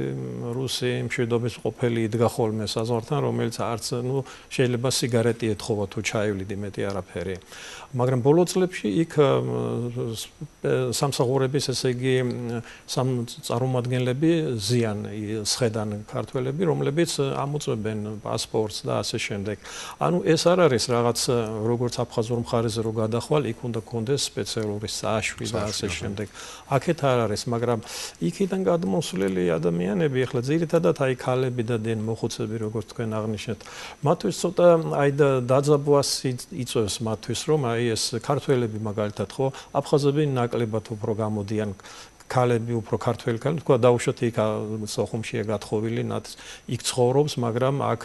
რუსი მშვიდობის ყოფილი იდგა ხოლმე საზღვართან, რომელიც არც ნუ შეიძლება სიგარეტი ეთხოვა თუ ჩაივლიდე მეტი არაფერი. მაგრამ ბოლო წლებში იქ სამსახურების, ესე იგი, სამ წარმომადგენლები ზიან სხედან ქართველები, რომლებიც ამოწმებენ პასპორტს და ასე შემდეგ. ანუ ეს არ არის რაღაც როგორც აფხაზურ მხარეზე რო გადახვალ, იქ უნდა კონდეს სპეციალური საშვი და ასე შემდეგ. აქეთ არ არის, მაგრამ იქიდან გადმოსვლელი ადამიანები, ახლა ძირითადად აი ქალები და დენ მოხუცები, როგორც თქვენ აღნიშნეთ, მათთვის ცოტა აი დაძაბვას იწევს მათთვის, რომ აი ეს ქართველები მაგალითად ხო, აფხაზები ნაკლებად უფრო გამოდიან. ქალები უფრო ქართველი ქალი, თქვა დაუშვათ იქ სოხუმშია გათხოვილი, ნათ იქ ცხოვრობს, მაგრამ აქ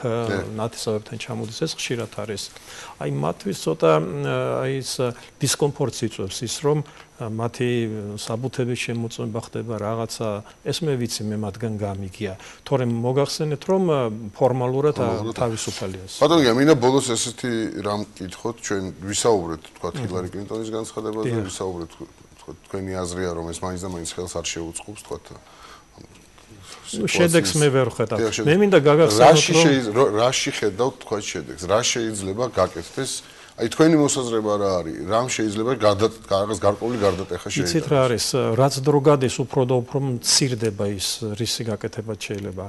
ნათესავებთან ჩამოდის, ეს ხშირად არის. აი მათთვის ცოტა აი ეს დისკომფორტს იწვევს ის, რომ მათი საბუთების შემოწმება ხდება რაღაცა, ეს მე ვიცი, მე მათგან გამიგია. თორემ მოგახსენეთ, რომ ფორმალურად თავისუფალია. ბატონო, მინდა ბოლოს ესეთი რამ კითხოთ, ჩვენ ვისაუბრეთ, თქვა ჰილარი კლინტონის განცხადებაზე, ვისაუბრეთ თქვენი აზრია, რომ ეს მაინც და მაინც ხელს არ შეუწყობს, თქვა. შედეგს მე ვერ ხედავ. მე მინდა გაგახსენოთ, რომ რაში ხედავთ თქვა შედეგს, რა შეიძლება გაკეთდეს? აი თქვენი მოსაზრება რა არის? რამ შეიძლება რაღაც გარკვეული გარდატეხა შეიძლება? იცით რა არის, რაც დრო გადის, უფრო და უფრო მცირდება ის რისი გაკეთება შეიძლება.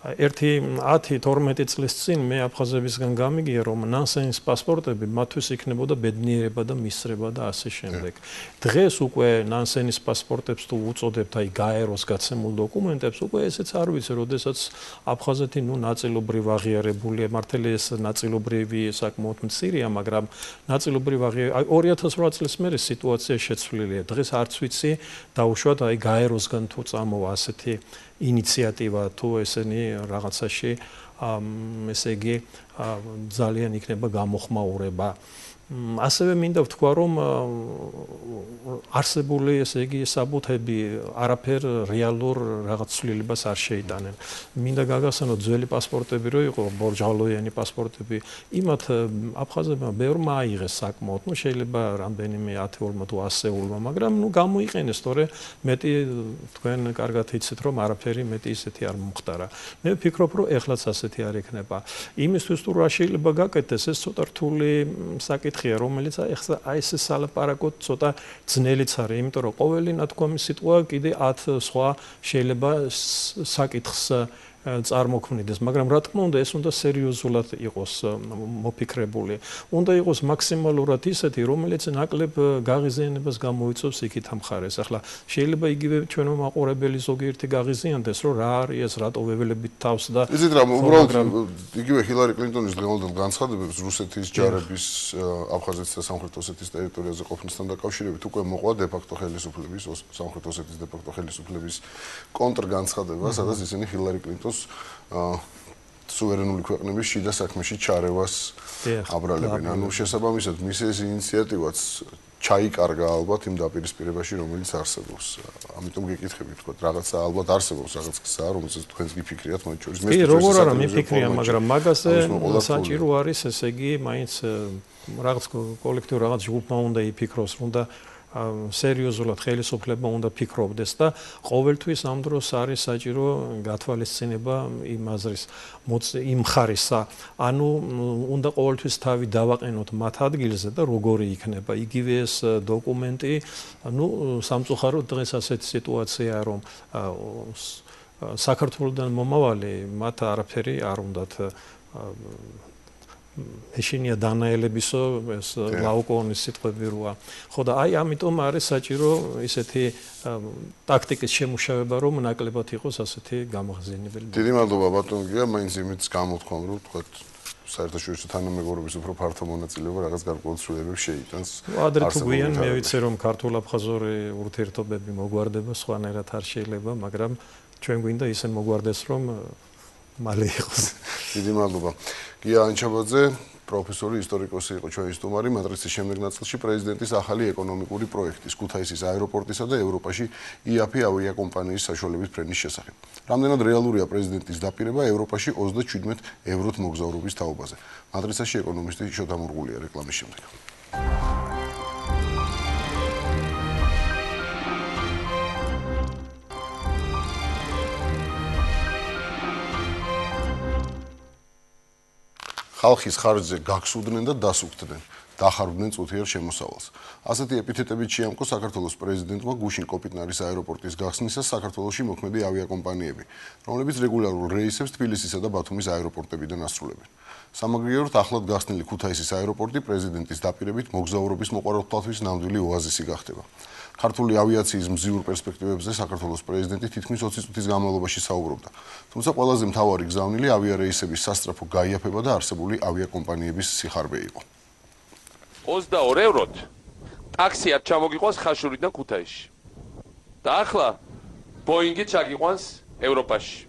ერთი ათი თორმეტი წლის წინ მე აფხაზებისგან გამიგია, რომ ნანსენის პასპორტები მათთვის იქნებოდა ბედნიერება და მისწრება და ასე შემდეგ. დღეს უკვე ნანსენის პასპორტებს თუ უწოდებთ აი გაეროს გაცემულ დოკუმენტებს, უკვე ესეც არ ვიცი, როდესაც აფხაზეთი ნუ ნაწილობრივ აღიარებულია, მართალი ეს ნაწილობრივი საკმაოდ მცირეა, მაგრამ ნაწილობრივ აღიარებულია. ორი ათას რვა წლის მერე სიტუაცია შეცვლილია. დღეს არც ვიცი დაუშვათ აი გაეროსგან თუ წამოვა ასეთი ინიციატივა თუ ესენი რაღაცაში ესე იგი ძალიან იქნება გამოხმაურება. ასევე მინდა ვთქვა, რომ არსებული ესე იგი საბუთები არაფერ რეალურ რაღაც ცვლილებას არ შეიტანენ. მინდა გაგახსენოთ ძველი პასპორტები რო იყო, ბორჯალოიანი პასპორტები, იმათ აფხაზებმა ბევრმა აიღეს საკმაოდ, ну შეიძლება რამდენიმე ათეულმა თუ ასეულმა, მაგრამ ну გამოიყენეს, თორე მეტი თქვენ კარგად იცით, რომ არაფერი მეტი ისეთი არ მომხდარა. მე ვფიქრობ, რომ ეხლაც ასეთი არ იქნება. იმისთვის თუ რა შეიძლება გაკეთდეს, ეს ცოტა რთული საკითხია, რომელიც ახლა აი ეს სალაპარაკო ცოტა ძნელიც არის, იმიტომ რომ ყოველი ნათქვამი სიტყვა კიდე ათ სხვა შეიძლება საკითხს წარმოქმნიდეს, მაგრამ რა თქმა უნდა ეს უნდა სერიოზულად იყოს მოფიქრებული. უნდა იყოს მაქსიმალურად ისეთი, რომელიც ნაკლებ გაღიზიანებას გამოიწვევს იქით ამ მხარეს. ახლა შეიძლება იგივე ჩვენო მაყურებელი ზოგიერთი გაღიზიანდეს, რომ რა არის ეს, რატო ვეველებით თავს და იცით რა, უბრალოდ იგივე ჰილარი კლინტონის დღევანდელ განცხადებებს რუსეთის ჯარების აფხაზეთის და სამხრეთ ოსეთის ტერიტორიაზე ყოფნისთან დაკავშირებით უკვე მოყვა დე-ფაქტო ხელისუფლების, სამხრეთ ოსეთის დე-ფაქტო ხელისუფლების კონტრგანცხადება, სადაც ისინი ჰილარი კლინტონს სუვერენული ქვეყნების შიდა საქმეში ჩარევას აბრალებენ. ანუ შესაბამისად მის ეს ინიციატივაც ჩაიკარგა ალბათ იმ დაპირისპირებაში, რომელიც არსებობს. ამიტომ გეკითხები, თქო, რაღაცა ალბათ არსებობს, რაღაც გზაა, რომელსაც თქვენს გიფიქრიათ მათ შორის. მე როგორ არა მიფიქრია, მაგრამ მაგაზე საჭირო არის, ესე იგი, მაინც რაღაც კოლექტივ რაღაც ჯგუფმა უნდა იფიქროს, უნდა სერიოზულად ხელისუფლება უნდა ფიქრობდეს და ყოველთვის ამ დროს არის საჭირო გათვალისწინება იმ აზრის იმ ხარისა, ანუ უნდა ყოველთვის თავი დავაყენოთ მათ ადგილზე და როგორი იქნება იგივე ეს დოკუმენტი, ну სამწუხაროდ დღეს ასეთი სიტუაციაა, რომ საქართველოსდან მომავალი მათ არაფერი არ უნდათ ეშინია დანაელებისო ეს ლაუკონის სიტყვები როა. ხო და აი ამიტომ არის საჭირო ისეთი ტაქტიკის შემუშავება, რომ ნაკლებად იყოს ასეთი გამახსენებელი. დიდი მადლობა ბატონ გია, მაინც იმით გამოთქვამ, რომ თქვათ საერთაშორისო თანამეგობრობის უფრო ფართო მონაწილეობა რაღაც გარკვეულ ცვლილებებს შეიტანს. ადრე თუ გვიან მე ვიცი რომ ქართულ-აფხაზური ურთიერთობები მოგვარდება, სხვანაირად არ შეიძლება, მაგრამ ჩვენ გვინდა ისე მოგვარდეს რომ მალე იყოს. დიდი მადლობა. გია ანჩაბაძე, პროფესორი, ისტორიკოსი იყო ჩვენი სტუმარი, მატრიცის შემდეგ ნაწილში პრეზიდენტის ახალი ეკონომიკური პროექტის, ქუთაისის აეროპორტისა და ევროპაში იაფი ავიაკომპანიის საშუალების ფრენის შესახებ. რამდენად რეალურია პრეზიდენტის დაპირება ევროპაში ოცდაჩვიდმეტ ევროთ მოგზაურობის თაობაზე. მატრიცაში ეკონომისტი შოთა მურღულია რეკლამის შემდეგ. ხალხის ხარჯზე გაგსუდნენ და დასუფდნენ, დახარვდნენ წუთიერ შემოსავალს. ასეთი ეპითეტებით შეამკო საქართველოს პრეზიდენტმა გუშინ კოპიტნარის აეროპორტის გახსნისას საქართველოში მოქმედი ავიაკომპანიები, რომლებიც რეგულარულ რეისებს თბილისისა და ბათუმის აეროპორტებიდან ასრულებენ. სამაგრიეროდ ახლად გახსნილი ქუთაისის აეროპორტი პრეზიდენტის დაპირებით მოგზაურობის მოყვარულთათვის ნამდვილი ოაზისი გახდება. ქართული ავიაციის მზიურ პერსპექტივებზე საქართველოს პრეზიდენტი თითქმის ოცი წუთის განმავლობაში საუბრობდა. თუმცა ყველაზე მთავარი გზავნილი ავიარეისების სასწრაფო გაიაფება და არსებული ავიაკომპანიების სიხარბე იყო. ოცდაორ ევროთ ტაქსი არ ჩამოგიყვანს ხაშურიდან ქუთაისში. და ახლა ბოინგი ჩაგიყვანს ევროპაში.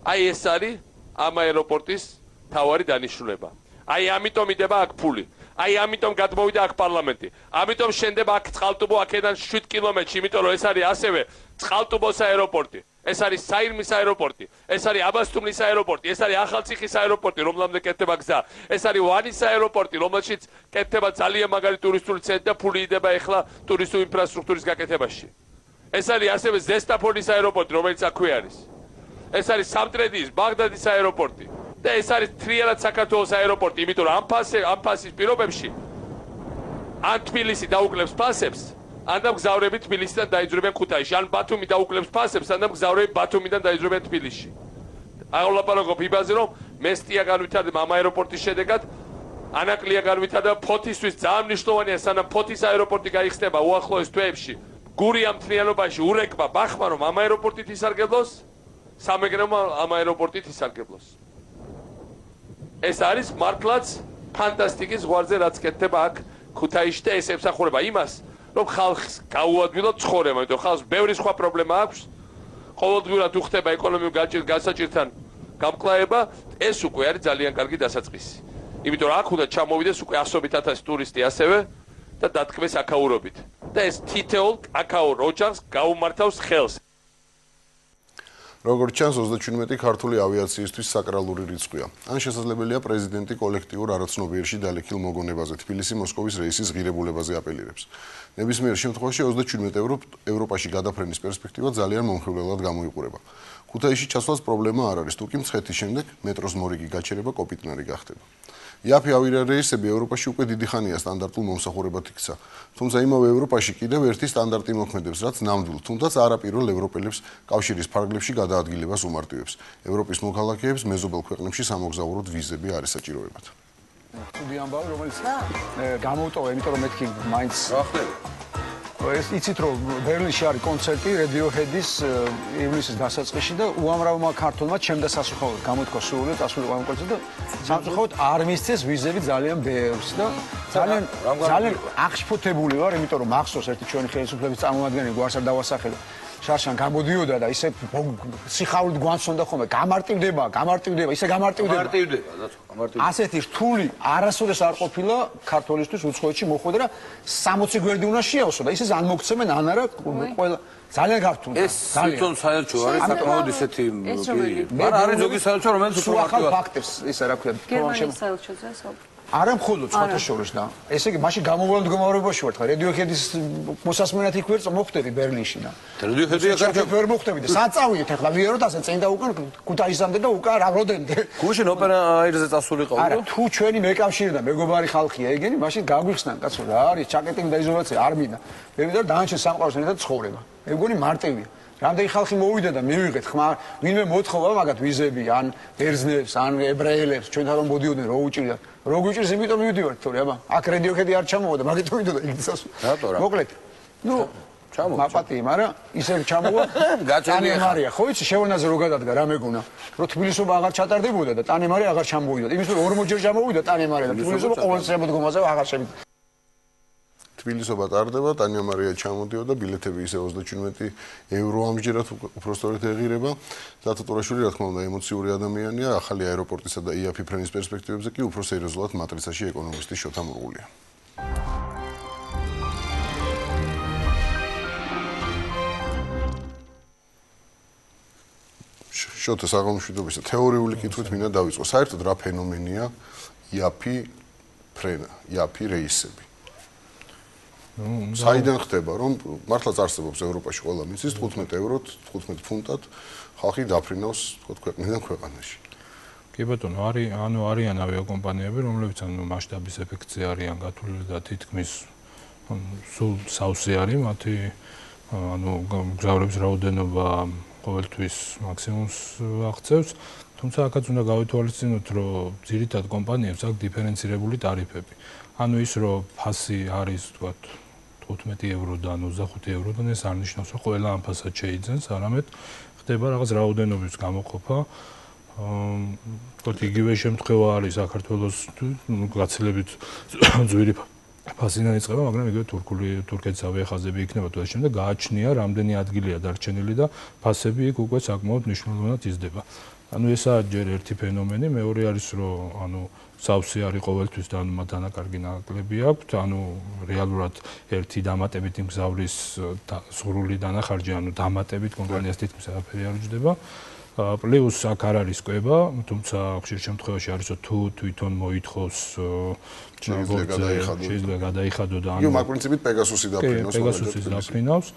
აი ეს არის ამ აეროპორტის თავარი დანიშნულება. აი ამიტომ იდება აქ ფული. აი ამიტომ გადმოვიდა აქ პარლამენტი. ამიტომ შენდება აქ წყალტუბო აქედან შვიდ კილომეტრში, იმიტომ რომ ეს არის ასევე წყალტუბოს აეროპორტი. ეს არის საირმის აეროპორტი, ეს არის აბასთუმნის აეროპორტი, ეს არის ახალციხის აეროპორტი, რომლამდე კეთდება გზა. ეს არის ვანის აეროპორტი, რომელშიც კეთდება ძალიან მაგარი ტურისტული ცენტრი და ფული იდება ეხლა ტურისტული ინფრასტრუქტურის გაკეთებაში. ეს არის ასევე ზესტაფონის აეროპორტი, რომელიც აქვე არის. ეს არის სამტრედიის, ბაღდადის აეროპორტი. და ეს არის თრიალად საქართველოს აეროპორტი, იმიტომ რომ ამ ფასე ამ ფასის პირობებში ან თბილისი დაუკლებს ფასებს, ან მგზავრები თბილისიდან დაიძრებიან ქუთაისში, ან ბათუმი დაუკლებს ფასებს, ან მგზავრები ბათუმიდან დაიძრებიან თბილისში. აღლაპარაკობ იმაზე, რომ მესტია განვითარდება ამ აეროპორტის შედეგად, ანაკლია განვითარდება ფოთისთვის ძალიან მნიშვნელოვანია, სანამ ფოთის აეროპორტი გაიხსნება უახლოეს თვეებში. გური ამ მთლიანობაში ურეკმა ბახმა რომ ამ აეროპორტით ისარგებლოს, სამეგრელო ამ აეროპორტით ისარგებლოს. ეს არის მართლაც ფანტასტიკის ზღვარზე რაც კეთდება აქ ქუთაისში და ეს ემსახურება იმას, რომ ხალხს გაუადვილოთ ცხოვრება, იმიტომ ხალხს ბევრი სხვა პრობლემა აქვს. ყოველდღიურად უხდება ეკონომიკურ განსაჭირთან გამკლავება, ეს უკვე არის ძალიან კარგი დასაწყისი. იმიტომ რომ აქ უნდა ჩამოვიდეს უკვე ასობით ათასი ტურისტი ასევე და დათქმეს აკაურობით. და ეს თითოეულ აკაურ ოჯახს გაუმართავს ხელს. როგორც ჩანს, ოცდაჩვიდმეტი ქართული ავიაციისთვის საკრალური რიცხვია. ან შესაძლებელია პრეზიდენტი კოლექტიურ არაცნობიერში დალექილ მოგონებაზე თბილისი-მოსკოვის რეისის ღირებულებაზე აპელირებს. ნებისმიერ შემთხვევაში ოცდაჩვიდმეტ ევროპაში გადაფრენის პერსპექტივა ძალიან მომხიბვლელად გამოიყურება. ქუთაისში ჩასვლას პრობლემა არ არის, თუკი მცხეთის შემდეგ მეტროს მორიგი გაჩერება კოპიტნარი გახდება. იაფი ავიარეისები ევროპაში უკვე დიდი ხანია სტანდარტულ მომსახურებად იქცა. თუმცა იმავე ევროპაში კიდევ ერთი სტანდარტი მოქმედებს, რაც ნამდვილ, თუნდაც არაპირულ ევროპელებს კავშირის ფარგლებში გადაადგილებას უმარტივებს. ევროპის მოქალაქეებს მეზობელ ქვეყნებში სამოგზაუროდ ვიზები არ ესაჭიროებათ. ხუთი ამბავი, რომელიც გამოვტოვა, იმიტომ რომ მეთქი მაინც ეს იცით რომ ბერლინში არის კონცერტი Radiohead-ის ივნისის დასაწყისში და უამრავმა ქართველმა ჩემდა სასუხაოდ გამოთქვა სურვილი დასრულიყო ამ კონცერტზე და სამწუხაროდ არ მისცეს ვიზები ძალიან ბევრს და ძალიან ძალიან აღშფოთებული ვარ, იმიტომ რომ მახსოვს ერთი ჩვენი ხელისუფლების წარმომადგენელი გვარს არ დავასახელო შარშან გამოდიოდა და ისე სიხარულით გვანცონდა ხოლმე გამარტივდება, გამარტივდება, ისე გამარტივდება. გამარტივდება, გამარტივდება. ასეთი რთული არასოდეს არ ყოფილა ქართველისთვის უცხოეთში მოხვედა და სამოცი გვერდი უნდა შეავსო და ისე ან მოგცემენ ან არა ყველა ძალიან გართუნდა. ეს თვითონ საერთო არის საკმაოდ ისეთი მაგრამ არის ზოგი საერთო რომელიც უფრო ახალ ფაქტებს ისა რა ქვია გერმანიის საელჩოზე საუბრობ. არა მხოლოდ სხვათა შორის და ესე იგი მაშინ გამოვლენად გამარებაში ვარ ხა Radiohead-ის მოსასმენად იქ ვერ მოხვდები ბერლინში და Radiohead-ი აქ ვერ მოხვდები და სად წავიდეთ ახლა ვიეროთ ასე წინ და უკან ქუთაისამდე და უკან რა როდენდე გუშინ ოპერა აირზე წასულიყავ არა თუ ჩვენი მეკავშირე და მეგობარი ხალხია ეგენი მაშინ გაგვიხსნან კაცო რა არის ჩაკეტინგი და იზოლაცია არ მინდა მე მინდა დანარჩენ სამყაროს ერთად ცხოვრება მე მგონი მარტივია რამდენი ხალხი მოვიდა და მივიღეთ ხმა, ვინმე მოთხოვა მაგათ ვიზები, ან ბერძნებს, ან ებრაელებს, ჩვენთან რომ მოდიოდნენ, რო უჭირდა. რო გვიჭირს, იმიტომ მივდივართ, თორე აბა, აქ რედიოქედი არ ჩამოვიდა, მაგით მინდოდა იქცას. რატო რა? მოკლედ. ნუ ჩამო. მაპატი, მაგრამ ისევ ჩამოვა. ტანემარია, ხო იცი, შევნაზე რო გადადგა რა მეგონა, რომ თბილისობა აღარ ჩატარდებოდა და ტანემარი აღარ ჩამოვიდა. იმის რომ ორმოჯერ ჩამოვიდა ტანემარი და თბილისობა ყოველ შემოდგომაზე აღარ შევიდა. თბილისობა ტარდება, ტანემარია ჩამოდიოდა, ბილეთები ისე ოცდაჩვიდმეტი ევრო ამჯერად უпростоრეთ ეღირება. დათო ტურაშვილი რა თქმა უნდა ემოციური ადამიანია, ახალი აეროპორტისა და იაფი ფრენის პერსპექტივებზე კი უფრო სერიოზულად მატრიცაში ეკონომისტი შოთა მურღულია. შოთა საღამოშვიდობის თეორიული კითხვით მინდა დავიწყო. საერთოდ რა ფენომენია იაფი ფრენა, იაფი რეისები? საიდან ხდება, რომ მართლაც არსებობს ევროპაში ყველა მიწის თხუთმეტ ევროთ, თხუთმეტ ფუნტად ხალხი დაფრინავს თქო ქვეყნიდან ქვეყანაში. კი ბატონო, არის ანუ არიან ავიაკომპანიები, რომლებიც ანუ მასშტაბის ეფექტზე არიან გათვლილი და თითქმის სულ სავსე არის მათი ანუ მგზავრების რაოდენობა ყოველთვის მაქსიმუმს აღწევს, თუმცა აქაც უნდა გავითვალისწინოთ, რომ ძირითად კომპანიებს აქვს დიფერენცირებული ტარიფები. ანუ ის რომ ფასი არის თქვათ თხუთმეტი ევროდან ოცდახუთი ევროდან ეს არ ნიშნავს რომ ყველა ამ ფასად შეიძენს, არამედ ხდება რაღაც რაოდენობის გამოყოფა. თქვათ იგივე შემთხვევა არის საქართველოს გაცილებით ძვირი ფასიდან იწყება, მაგრამ იგივე თურქული თურქეთის ავიახაზები იქნება თუ და შემდეგ გააჩნია რამდენი ადგილია დარჩენილი და ფასები იქ უკვე საკმაოდ მნიშვნელოვნად იზრდება. ანუ ესაა ჯერ ერთი ფენომენი, მეორე არის რომ ანუ სავსე არის ყოველთვის და ანუ მათ დანაკარგი ნაკლები აქვთ, ანუ რეალურად ერთი დამატებითი მგზავრის სრული დანახარჯი, ანუ დამატებით კომპანიას თითქმის არაფერი არ უჯდება. პლუს აქ არ არის კვება, თუმცა ხშირ შემთხვევაში არის რომ თუ თვითონ მოითხოვს შეიძლება გადაიხადო და ანუ მაგ პრინციპით პეგასუსი დაფრინავს. პეგასუსი დაფრინავს.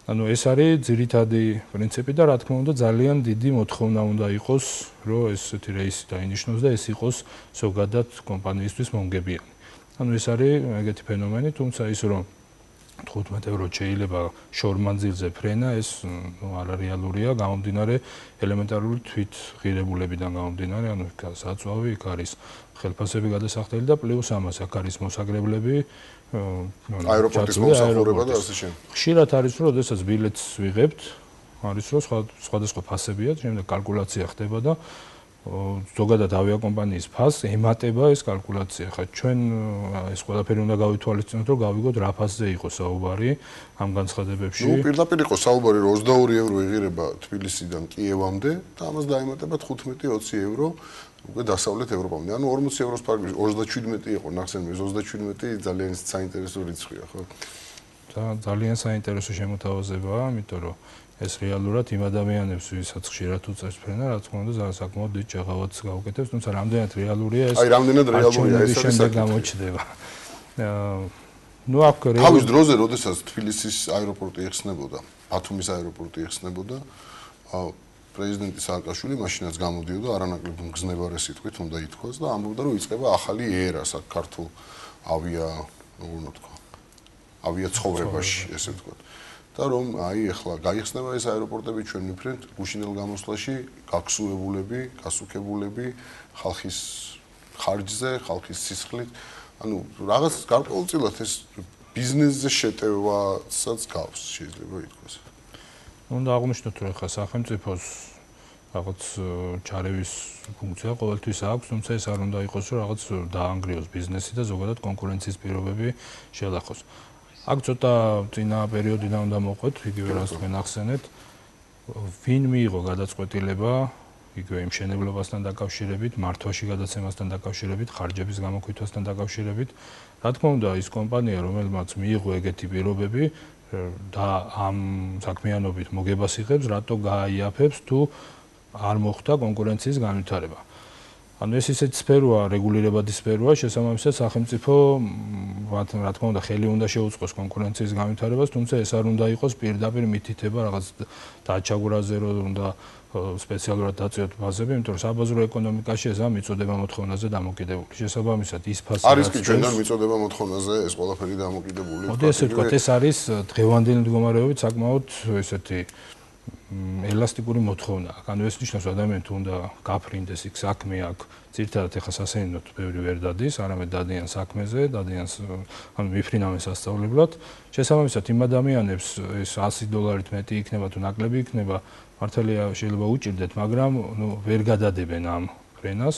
ანუ ეს არის ძირითადი პრინციპი და რა თქმა უნდა ძალიან დიდი მოთხოვნა უნდა იყოს, რომ ესეთი რეისი დაინიშნოს და ეს იყოს ზოგადად კომპანიისთვის მომგებიანი. ანუ ეს არის ეგეთი ფენომენი, თუმცა ის რომ თხუთმეტ ევრო შეიძლება შორმანძილზე ფრენა, ეს ნუ არარეალურია, გამომდინარე ელემენტარული თვით ღირებულებიდან გამომდინარე, ანუ იქ საწვავი, იქ არის ხელფასები გადასახდელი და პლუს ამას აქ არის მოსაგრებლები, აეროპორტის მომსახურება და ასე შემდეგ. ხშირად არის რომ შესაძ ბილეთს ვიღებთ, არის რომ სხვადასხვა ფასებია, შემდეგ კალკულაცია ხდება და ზოგადად ავიაკომპანიის ფასს ემატება ეს კალკულაცია. ხა ჩვენ ეს ყველაფერი უნდა გავითვალისწინოთ, რომ გავიგოთ რა ფასზე იყო საუბარი ამ განცხადებებში. ნუ პირდაპირ იყო საუბარი, რომ ოცდაორი ევრო იღირება თბილისიდან კიევამდე და ამას დაემატება თხუთმეტი ოცი ევრო უკვე დასავლეთ ევროპამდე. ანუ ორმოცი ევროს ფარგლებში ოცდაჩვიდმეტი იყო ნახსენები, ოცდაჩვიდმეტი ძალიან საინტერესო რიცხვია, ხო? და ძალიან საინტერესო შემოთავაზებაა, იმიტომ რომ ეს რეალურად იმ ადამიანებს, ვისაც ხშირად უწევს ფრენა, რა თქმა უნდა, ძალიან საკმაოდ დიდ ჭაღავადს გაუკეთებს, თუმცა რამდენად რეალურია ეს? აი, რამდენად რეალურია ეს არის საკითხი. გამოჩნდება. ნუ აქ თავის დროზე, როდესაც თბილისის აეროპორტი იხსნებოდა, ბათუმის აეროპორტი იხსნებოდა, პრეზიდენტი სააკაშვილი მაშინაც გამოდიოდა არანაკლებ მგზნებარე სიტყვით უნდა ითქვას და ამბობდა, რომ იწყება ახალი ერა საქართველოს ავია, როგორ ვთქვა, ავია ცხოვრებაში, ესე ვთქვათ. და რომ აი ახლა გაიხსნება ეს აეროპორტები ჩვენ მიფრენთ გუშინელ გამოსვლაში გაქსუებულები, გასუქებულები ხალხის ხარჯზე, ხალხის სისხლით. ანუ რაღაც გარკვეულწილად ეს ბიზნესზე შეტევასაც გავს, შეიძლება ითქვას. უნდა აღვნიშნოთ, რომ ახლა სახელმწიფოს რაღაც ჩარევის ფუნქცია ყოველთვის აქვს, თუმცა ეს არ უნდა იყოს, რომ რაღაც დაანგრიოს ბიზნესი და ზოგადად კონკურენციის პირობები შელახოს. აქ ცოტა წინა პერიოდიდან უნდა მოყვეთ, იგივე რაც თქვენ ახსენეთ, ვინ მიიღო გადაწყვეტილება იგივე იმ მშენებლობასთან დაკავშირებით, მართვაში გადაცემასთან დაკავშირებით, ხარჯების გამოკითხვასთან დაკავშირებით. რა თქმა უნდა, ის კომპანია, რომელმაც მიიღო ეგეთი პირობები და ამ საქმიანობით მოგებას იღებს, რატო გააიაფებს თუ არ მოხდა კონკურენციის განვითარება. ანუ ეს ისეთი სფეროა, რეგულირებადი სფეროა, შესაბამისად სახელმწიფო რა თქმა უნდა ხელი უნდა შეუწყოს კონკურენციის განვითარებას, თუმცა ეს არ უნდა იყოს პირდაპირ მითითება რაღაც დაჩაგვრაზე, რომ უნდა სპეციალურად დაწიოთ ბაზები, იმიტომ რომ საბაზრო ეკონომიკაში ეს ამ მიწოდება მოთხოვნაზე დამოკიდებული. შესაბამისად ის ფასი არის კი ჩვენთან მიწოდება მოთხოვნაზე ეს ყველაფერი დამოკიდებული. მოდი ესე ვთქვათ, ეს არის დღევანდელი მდგომარეობით საკმაოდ ესეთი ელასტიკური მოთხოვნა აქვს. ანუ ეს ნიშნავს ადამიანს თუ უნდა გაფრინდეს იქ საქმე აქვს, ძირითადად ეხა სასეინოდ ბევრი ვერ დადის, არამედ დადიან საქმეზე, დადიან ანუ მიფრინავენ სასწავლებლად. შესაბამისად იმ ადამიანებს ეს ასი დოლარით მეტი იქნება თუ ნაკლები იქნება, მართალია შეიძლება უჭირდეთ, მაგრამ ნუ ვერ გადადებენ ამ ფრენას.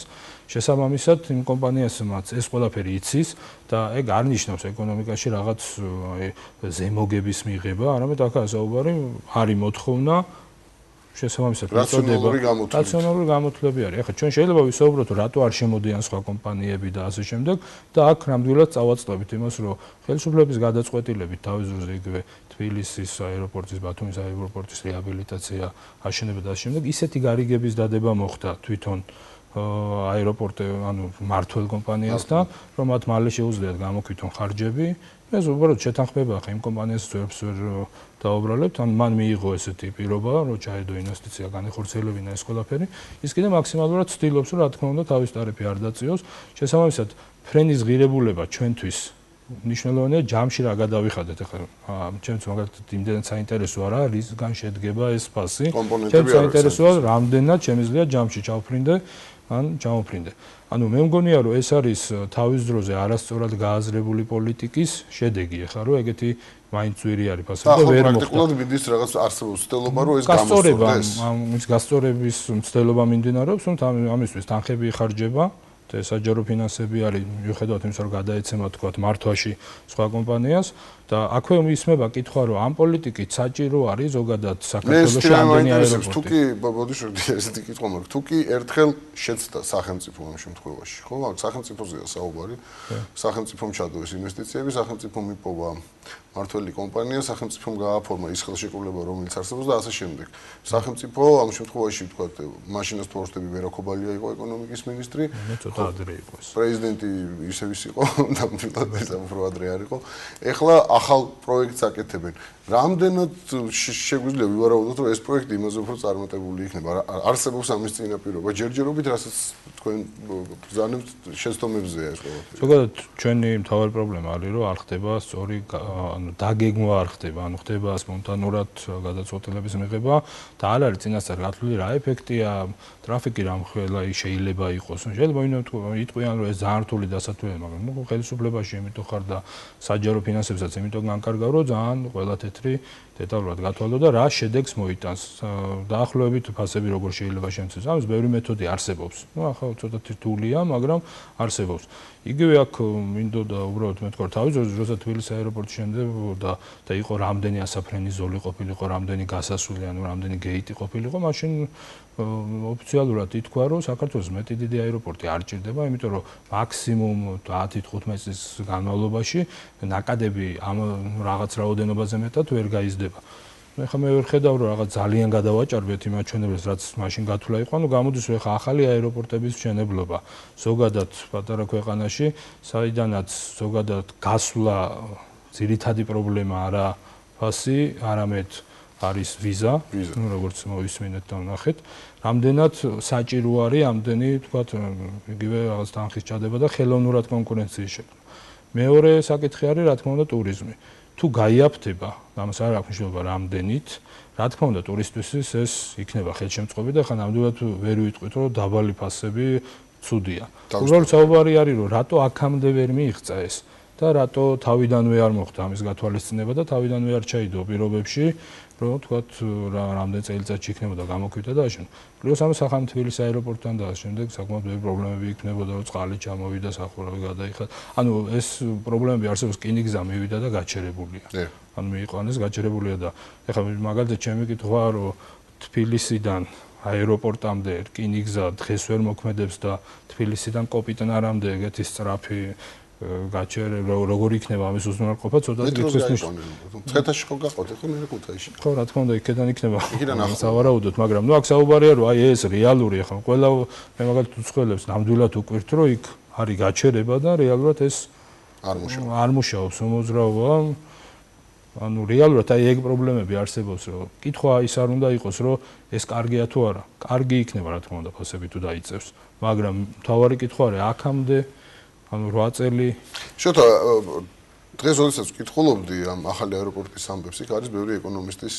შესაბამისად იმ კომპანიასმაც ეს ყველაფერი იცის და ეგ არ ნიშნავს ეკონომიკაში რაღაც აი ზემოგების მიღება, არამედ აქაა საუბარი, არის მოთხოვნა შესაბამისად რაციონალური გამოთვლები. რაციონალური გამოთვლები არის. ეხლა ჩვენ შეიძლება ვისაუბროთ, რატო არ შემოდიან სხვა კომპანიები და ასე შემდეგ და აქ ნამდვილად წავაწყდებით იმას, რომ ხელისუფლების გადაწყვეტილებით თავის დროზე იგივე თბილისის აეროპორტის, ბათუმის აეროპორტის რეაბილიტაცია, აშენება და ასე შემდეგ, ისეთი გარიგების დადება მოხდა თვითონ აეროპორტი, ანუ მმართველ კომპანიასთან, რომ მათ მალე შეუძლიათ გამოქვithონ ხარჯები. ეს უბრალოდ შეთანხმება ხა იმ კომპანიას ძვებს ვერ დაუბრალებთ, ან მან მიიღო ესეთი პირობა, რომ ჩაედო ინვესტიცია, განეხორციელებინა ეს ყველაფერი. ის კიდე მაქსიმალურად ცდილობს, რომ რა თქმა უნდა თავის ტარიფი არ დაწიოს. შესაბამისად, ფრენის ღირებულება ჩვენთვის მნიშვნელოვანია, ჯამში რა გადავიხადეთ ახლა. ჩემს მაგალითად იმდენად საინტერესო არა, რისგან შედგება ეს ფასი. ჩემს საინტერესოა, რამდენად შემიძლია ჯამში ჩავფრინდე, ან ჩამოფრინდე. ანუ მე მგონია, რომ ეს არის თავის დროზე არასწორად გააზრებული პოლიტიკის შედეგი, ახლა რომ ეგეთი მაინც ძვირი არის ფასები და ვერ მოხდა. პრაქტიკულად მიდის რაღაც არსებობს ცდელობა, რომ ეს გამოსწორდეს. ის გასწორების ცდელობა მიმდინარეობს, რომ ამისთვის თანხები იხარჯება. და საჯარო ფინანსები არის მიუხედავად იმისა, რომ გადაეცემა თქვა მართვაში სხვა კომპანიას და აქვე ისმება კითხვა, რომ ამ პოლიტიკით საჭირო არის ზოგადად საქართველოში ამდენი აეროპორტი. თუ კი ბოდიშვილი ესეთი კითხვა მაქვს, თუ კი ერთხელ შეცდა სახელმწიფო ამ შემთხვევაში, ხო, სახელმწიფოზეა საუბარი, სახელმწიფომ ჩადო ეს ინვესტიციები, სახელმწიფომ მიპოვა მართველი კომპანია, სახელმწიფომ გააფორმა ის ხელშეკრულება, რომელიც არსებობს და ასე შემდეგ. სახელმწიფო ამ შემთხვევაში თქვა, მაშინაც თორშტები ვერაკობალია იყო ეკონომიკის მინისტრი. ადრე იყო ეს. პრეზიდენტი ისევ ის იყო, ნამდვილად ეს უფრო ადრე არ იყო. ეხლა ახალ პროექტს აკეთებენ. რამდენად შეგვიძლია ვივარაუდოთ, რომ ეს პროექტი იმაზე უფრო წარმატებული იქნება? არსებობს ამის წინაპირობა, ჯერჯერობით, რასაც თქვენ ბრძანებთ შეცდომებზეა ეს ყველაფერი. ზოგადად ჩვენი მთავარი პრობლემა არის, რომ არ ხდება სწორი ანუ დაგეგმვა არ ხდება, ანუ ხდება სპონტანურად გადაწყვეტილების მიღება და არ არის წინასწარ გათვლილი რა ეფექტია, ტრაფიკი რამხელა შეიძლება იყოს. შეიძლება ვინმე იტყვიან, რომ ეს ძალიან რთული დასათვალიერება, მაგრამ ნუ ხელისუფლებაში იმიტომ ხარ და საჯარო ფინანსებსაც იმიტომ განკარგავ, რომ ძალიან ყველა თეთრი დეტალურად გათვალო და რა შედეგს მოიტანს. დაახლოებით ფასები როგორ შეიძლება შემცეს. ამის ბევრი მეთოდი არსებობს. ნუ ახლა ცოტა რთულია, მაგრამ არსებობს. იგივე აქ მინდოდა უბრალოდ მე თქვა თავის როცა თბილისის აეროპორტში შემდებოდა და იყო რამდენი ასაფრენის ზოლი ყოფილიყო, რამდენი გასასვლელი, ანუ რამდენი გეიტი ყოფილიყო, მაშინ ოფიციალურად ითქვა, რომ საქართველოს მეტი დიდი აეროპორტი არ ჭირდება, იმიტომ რომ მაქსიმუმ ათი თხუთმეტი წლის განმავლობაში ნაკადები ამ რაღაც რაოდენობაზე მეტად ვერ გაიზრდება. ეხლა მე ვერ ხედავ, რომ რაღაც ძალიან გადავაჭარბეთ იმ აჩვენებელს, რაც მაშინ გათვლა იყო, ანუ გამოდის, რომ ეხლა ახალი აეროპორტების მშენებლობა ზოგადად პატარა ქვეყანაში, საიდანაც ზოგადად გასვლა ძირითადი პრობლემა არა ფასი, არამედ არის ვიზა, ну, როგორც მოვისმინეთ და ვნახეთ, რამდენად საჭირო არის ამდენი, თქვათ, იგივე რაღაც თანხის ჩადება და ხელოვნურად კონკურენციის შექმნა. მეორე საკითხი არის, რა თქმა უნდა, ტურიზმი. თუ გაიაფთება, ამას არ აქვს მნიშვნელობა რამდენით, რა თქმა უნდა, ტურისტისთვის ეს იქნება ხელშემწყობი და ხან ნამდვილად ვერ ვიტყვით, რომ დაბალი ფასები ცუდია. უბრალოდ საუბარი არის, რომ რატო აქამდე ვერ მიიღწა ეს და რატო თავიდანვე არ მოხდა ამის გათვალისწინება და თავიდანვე არ ჩაიდო პირობებში, რომ თქვათ რამდენი წელიწადში იქნებოდა გამოქვეყნდა და ასე. პლუს ამ სახამ თბილისის აეროპორტთან და ასე შემდეგ საკმაოდ ბევრი პრობლემები იქნებოდა, რომ წყალი ჩამოვიდა, სახურავი გადაიხადა. ანუ ეს პრობლემები არსებობს, რკინიგზა მივიდა და გაჩერებულია. ანუ მიიყვანეს გაჩერებულია და ეხლა მაგალითად ჩემი კითხვა, რომ თბილისიდან აეროპორტამდე რკინიგზა დღეს ვერ მოქმედებს და თბილისიდან კოპიტნარამდე ეგეთი სწრაფი გაჩერე როგორ იქნება ამის უზრუნველყოფა ცოტა კითხვის ნიშნავს. ცხეთაში ხო გაყავთ ხო მე ქუთაისში. ხო რა თქმა უნდა იქიდან იქნება. სავარაუდოდ, მაგრამ ნუ აქ საუბარია რომ აი ეს რეალური ახლა ყველა მე მაგალითად უცხოელებს ნამდვილად უკვირთ რომ იქ არის გაჩერება და რეალურად ეს არ მუშაობს. არ მუშაობს უმოძრაობა. ანუ რეალურად აი ეგ პრობლემები არსებობს რომ კითხვა ის არ უნდა იყოს რომ ეს კარგია თუ არა. კარგი იქნება რა თქმა უნდა ფასები თუ დაიწევს, მაგრამ თავარი კითხვა არის აქამდე ანუ რვა წელი შოთა დღეს როდესაც ვკითხულობდი ამ ახალი აეროპორტის ამბებს, იქ არის ბევრი ეკონომისტის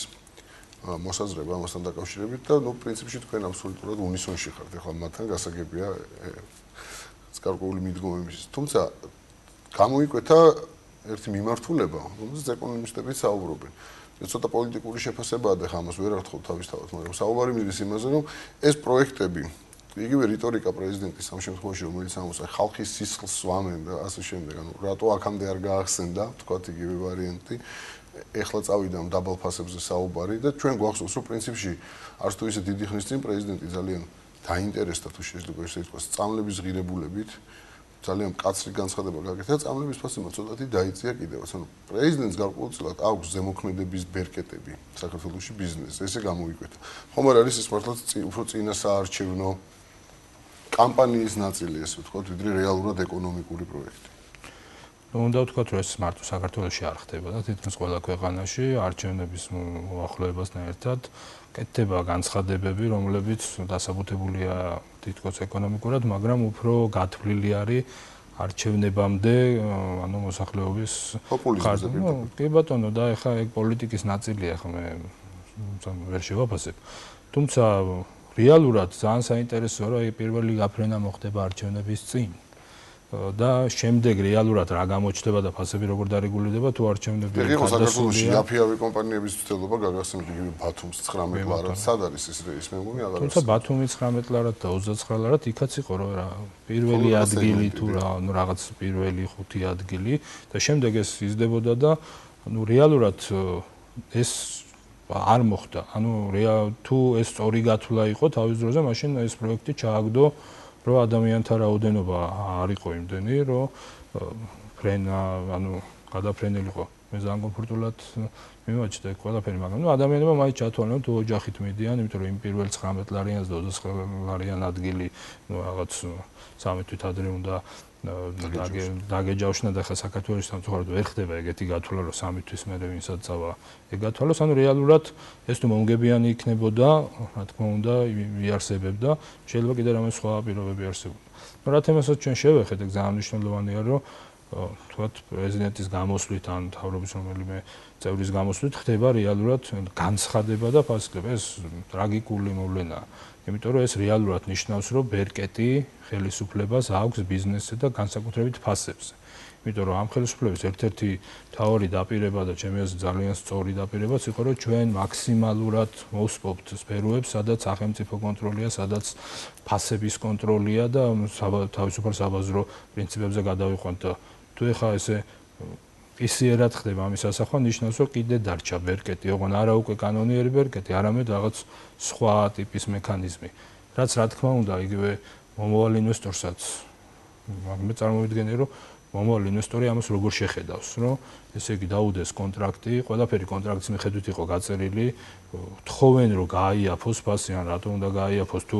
მოსაზრება ამასთან დაკავშირებით და ნუ პრინციპში თქვენ აბსოლუტურად უნისონში ხართ ახლა მათთან გასაგებია გარკვეული მიდგომების. თუმცა გამოიკვეთა ერთი მიმართულება, რომელზეც ეკონომისტები საუბრობენ. ცოტა პოლიტიკური შეფასებაა და ამას ვერ ართხოვ თავისთავად, მაგრამ საუბარი მიდის იმაზე, რომ ეს პროექტები, იგივე რიტორიკა პრეზიდენტის ამ შემთხვევაში, რომელიც ამოსა ხალხის სისხლს სვამენ და ასე შემდეგ, ანუ რატო აქამდე არ გაახსენდა, თქვათ იგივე ვარიანტი, ეხლა წავიდა დაბალ ფასებზე საუბარი და ჩვენ გვახსოვს, რომ პრინციპში არც თუ ისე დიდი ხნის წინ პრეზიდენტი ძალიან დაინტერესდა თუ შეიძლება ესე ითქვას, სწავლების ღირებულებით ძალიან მკაცრი განცხადება გაკეთა, სწავლების ფასმა ცოტათი დაიწია კიდევაც. ანუ პრეზიდენტს გარკვეულწილად აქვს ზემოქმედების ბერკეტები საქართველოში ბიზნესზე, ესე გამოიკვეთა. ხომ არ არის ეს მართლაც უფრო წინა საარჩევნო კამპანიის ნაწილი, ესე ვთქვათ, ვიდრე რეალურად ეკონომიკური პროექტი. ნუ უნდა ვთქვათ, რომ ეს მარტო საქართველოში არ ხდება და თითქმის ყველა ქვეყანაში არჩევნების მოახლოებასთან ერთად კეთდება განცხადებები, რომლებიც დასაბუთებულია თითქოს ეკონომიკურად, მაგრამ უფრო გათვლილი არის არჩევნებამდე, ანუ მოსახლეობის პოპულიზმზე. კი ბატონო, და ეხლა ეგ პოლიტიკის ნაწილია, ხო მე ვერ შევაფასებ. თუმცა რეალურად ძალიან საინტერესოა, რომ აი პირველი გაფრენა მოხდება არჩევნების წინ. და შემდეგ რეალურად რა გამოჩნდება და ფასები როგორ დარეგულირდება თუ არჩევნები იყო საქართველოში იაფიავი კომპანიების ცდელობა გაგახსენეთ იგივე ბათუმის ცხრამეტ ლარად სად არის ეს ის მე მგონი აღარ თუმცა ბათუმის ცხრამეტ ლარად და ოცდაცხრა ლარად იქაც იყო რომ რა პირველი ადგილი თუ რა ნუ რაღაც პირველი ხუთი ადგილი და შემდეგ ეს იზრდებოდა და ნუ რეალურად ეს არ მოხდა ანუ თუ ეს სწორი გათვლა იყო თავის დროზე მაშინ ეს პროექტი ჩააგდო რომ ადამიანთა რაოდენობა არ იყო იმდენი, რომ ფრენა, ანუ გადაფრენილიყო. მე ძალიან კომფორტულად მიმაჩნდა ყველაფერი, მაგრამ ნუ ადამიანებმა მაინც ჩათვალეს, თუ ოჯახით მიდიან, იმიტომ რომ იმ პირველ ცხრამეტ ლარიანს და ოცდაცხრა ლარიან ადგილი, ნუ რაღაც სამი თვით ადრე უნდა დაგეჯავშნა და ხა საქართველოს სამწუხაროდ ვერ ხდება ეგეთი გათვლა, რომ სამი თვის მერე ვინსაც წავა ეგ გათვალოს, ანუ რეალურად ეს თუ მომგებიანი იქნებოდა, რა თქმა უნდა, იარსებებდა, შეიძლება კიდე რამე სხვა პირობები არსებობდა. ნუ რა თემასაც ჩვენ შევეხეთ, ეგ ძალიან მნიშვნელოვანია, რომ თქვათ პრეზიდენტის გამოსვლით ან მთავრობის რომელიმე წევრის გამოსვლით ხდება რეალურად განცხადება და ფასება. ეს ტრაგიკული მოვლენაა. იმიტომ რომ ეს რეალურად ნიშნავს, რომ ბერკეტი ხელისუფლებას აქვს ბიზნესზე და განსაკუთრებით ფასებზე. იმიტომ რომ ამ ხელისუფლების ერთ-ერთი მთავარი დაპირება და ჩემი აზრით ძალიან სწორი დაპირებაც იყო, რომ ჩვენ მაქსიმალურად მოვსპობთ სფეროებს, სადაც სახელმწიფო კონტროლია, სადაც ფასების კონტროლია და თავისუფალ საბაზრო პრინციპებზე გადავიყვანთ და თუ ეხა ესე ისიერად ხდება ამის ასახვა, ნიშნავს, რომ კიდე დარჩა ბერკეტი, ოღონ არა უკვე კანონიერი ბერკეტი, არამედ რაღაც სხვა ტიპის მექანიზმი. რაც რა თქმა უნდა, იგივე მომავალ ინვესტორსაც მე წარმოვიდგენე, რომ მომავალ ინვესტორი ამას როგორ შეხედავს, რომ ესე იგი დაუდეს კონტრაქტი, ყველაფერი კონტრაქტის მიხედვით იყო გაწერილი, თხოვენ რომ გააიაფოს ფასი, ან რატომ უნდა გააიაფოს, თუ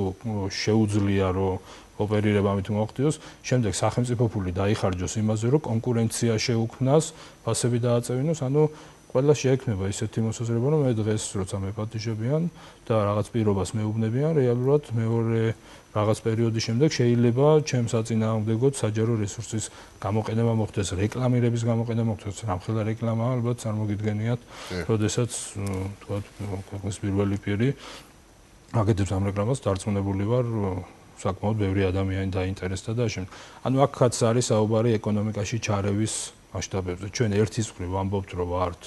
შეუძლია რომ ოპერირება ამით მოხდიოს, შემდეგ სახელმწიფო ფული დაიხარჯოს იმაზე, რომ კონკურენცია შეუქმნას, ფასები დააწევინოს, ანუ ყველა შეექმნება ისეთი მოსაზრება, რომ მე დღეს როცა მეპატიჟებიან და რაღაც პირობას მეუბნებიან, რეალურად მეორე რაღაც პერიოდის შემდეგ შეიძლება ჩემს საწინააღმდეგოდ საჯარო რესურსის გამოყენება მოხდეს, რეკლამირების გამოყენება მოხდეს, რამხელა რეკლამა ალბათ წარმოგიდგენიათ, როდესაც თქვათ ქვეყნის პირველი პირი აკეთებს ამ რეკლამას, დარწმუნებული ვარ საკმაოდ ბევრი ადამიანი დაინტერესდა და შემ. ანუ აქაც არის საუბარი ეკონომიკაში ჩარევის მასშტაბებზე. ჩვენ ერთის მხრივ ვამბობთ, რომ ვართ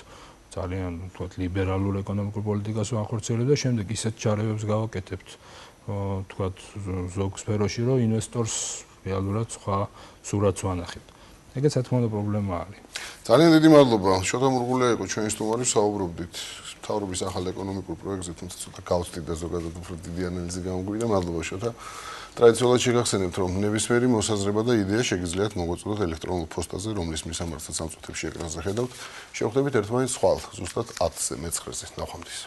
ძალიან თქვათ ლიბერალურ ეკონომიკურ პოლიტიკას ვახორციელებთ და შემდეგ ისეთ ჩარევებს გავაკეთებთ თქვათ ზოგ სფეროში, რომ ინვესტორს რეალურად სხვა სურათს ვანახებთ. ეგეც რა თქმა უნდა პრობლემა არის. ძალიან დიდი მადლობა. შოთა მურღულია იყო ჩვენი სტუმარი, საუბრობდით მთავრობის ახალ ეკონომიკურ პროექტზე, თუმცა ცოტა გავწდით და ზოგადად უფრო დიდი ანალიზი გამოგვივიდა. მადლობა შოთა. ტრადიციულად შეგახსენებთ, რომ ნებისმიერი მოსაზრება და იდეა შეგიძლიათ მოგვაწოდოთ ელექტრონულ პოსტაზე, რომლის მისამართაც ამ წუთებში ეკრანზე ხედავთ. შევხვდებით ერთმანეთს ხვალ, ზუსტად ათზე მეცხრეზე. ნახვამდის.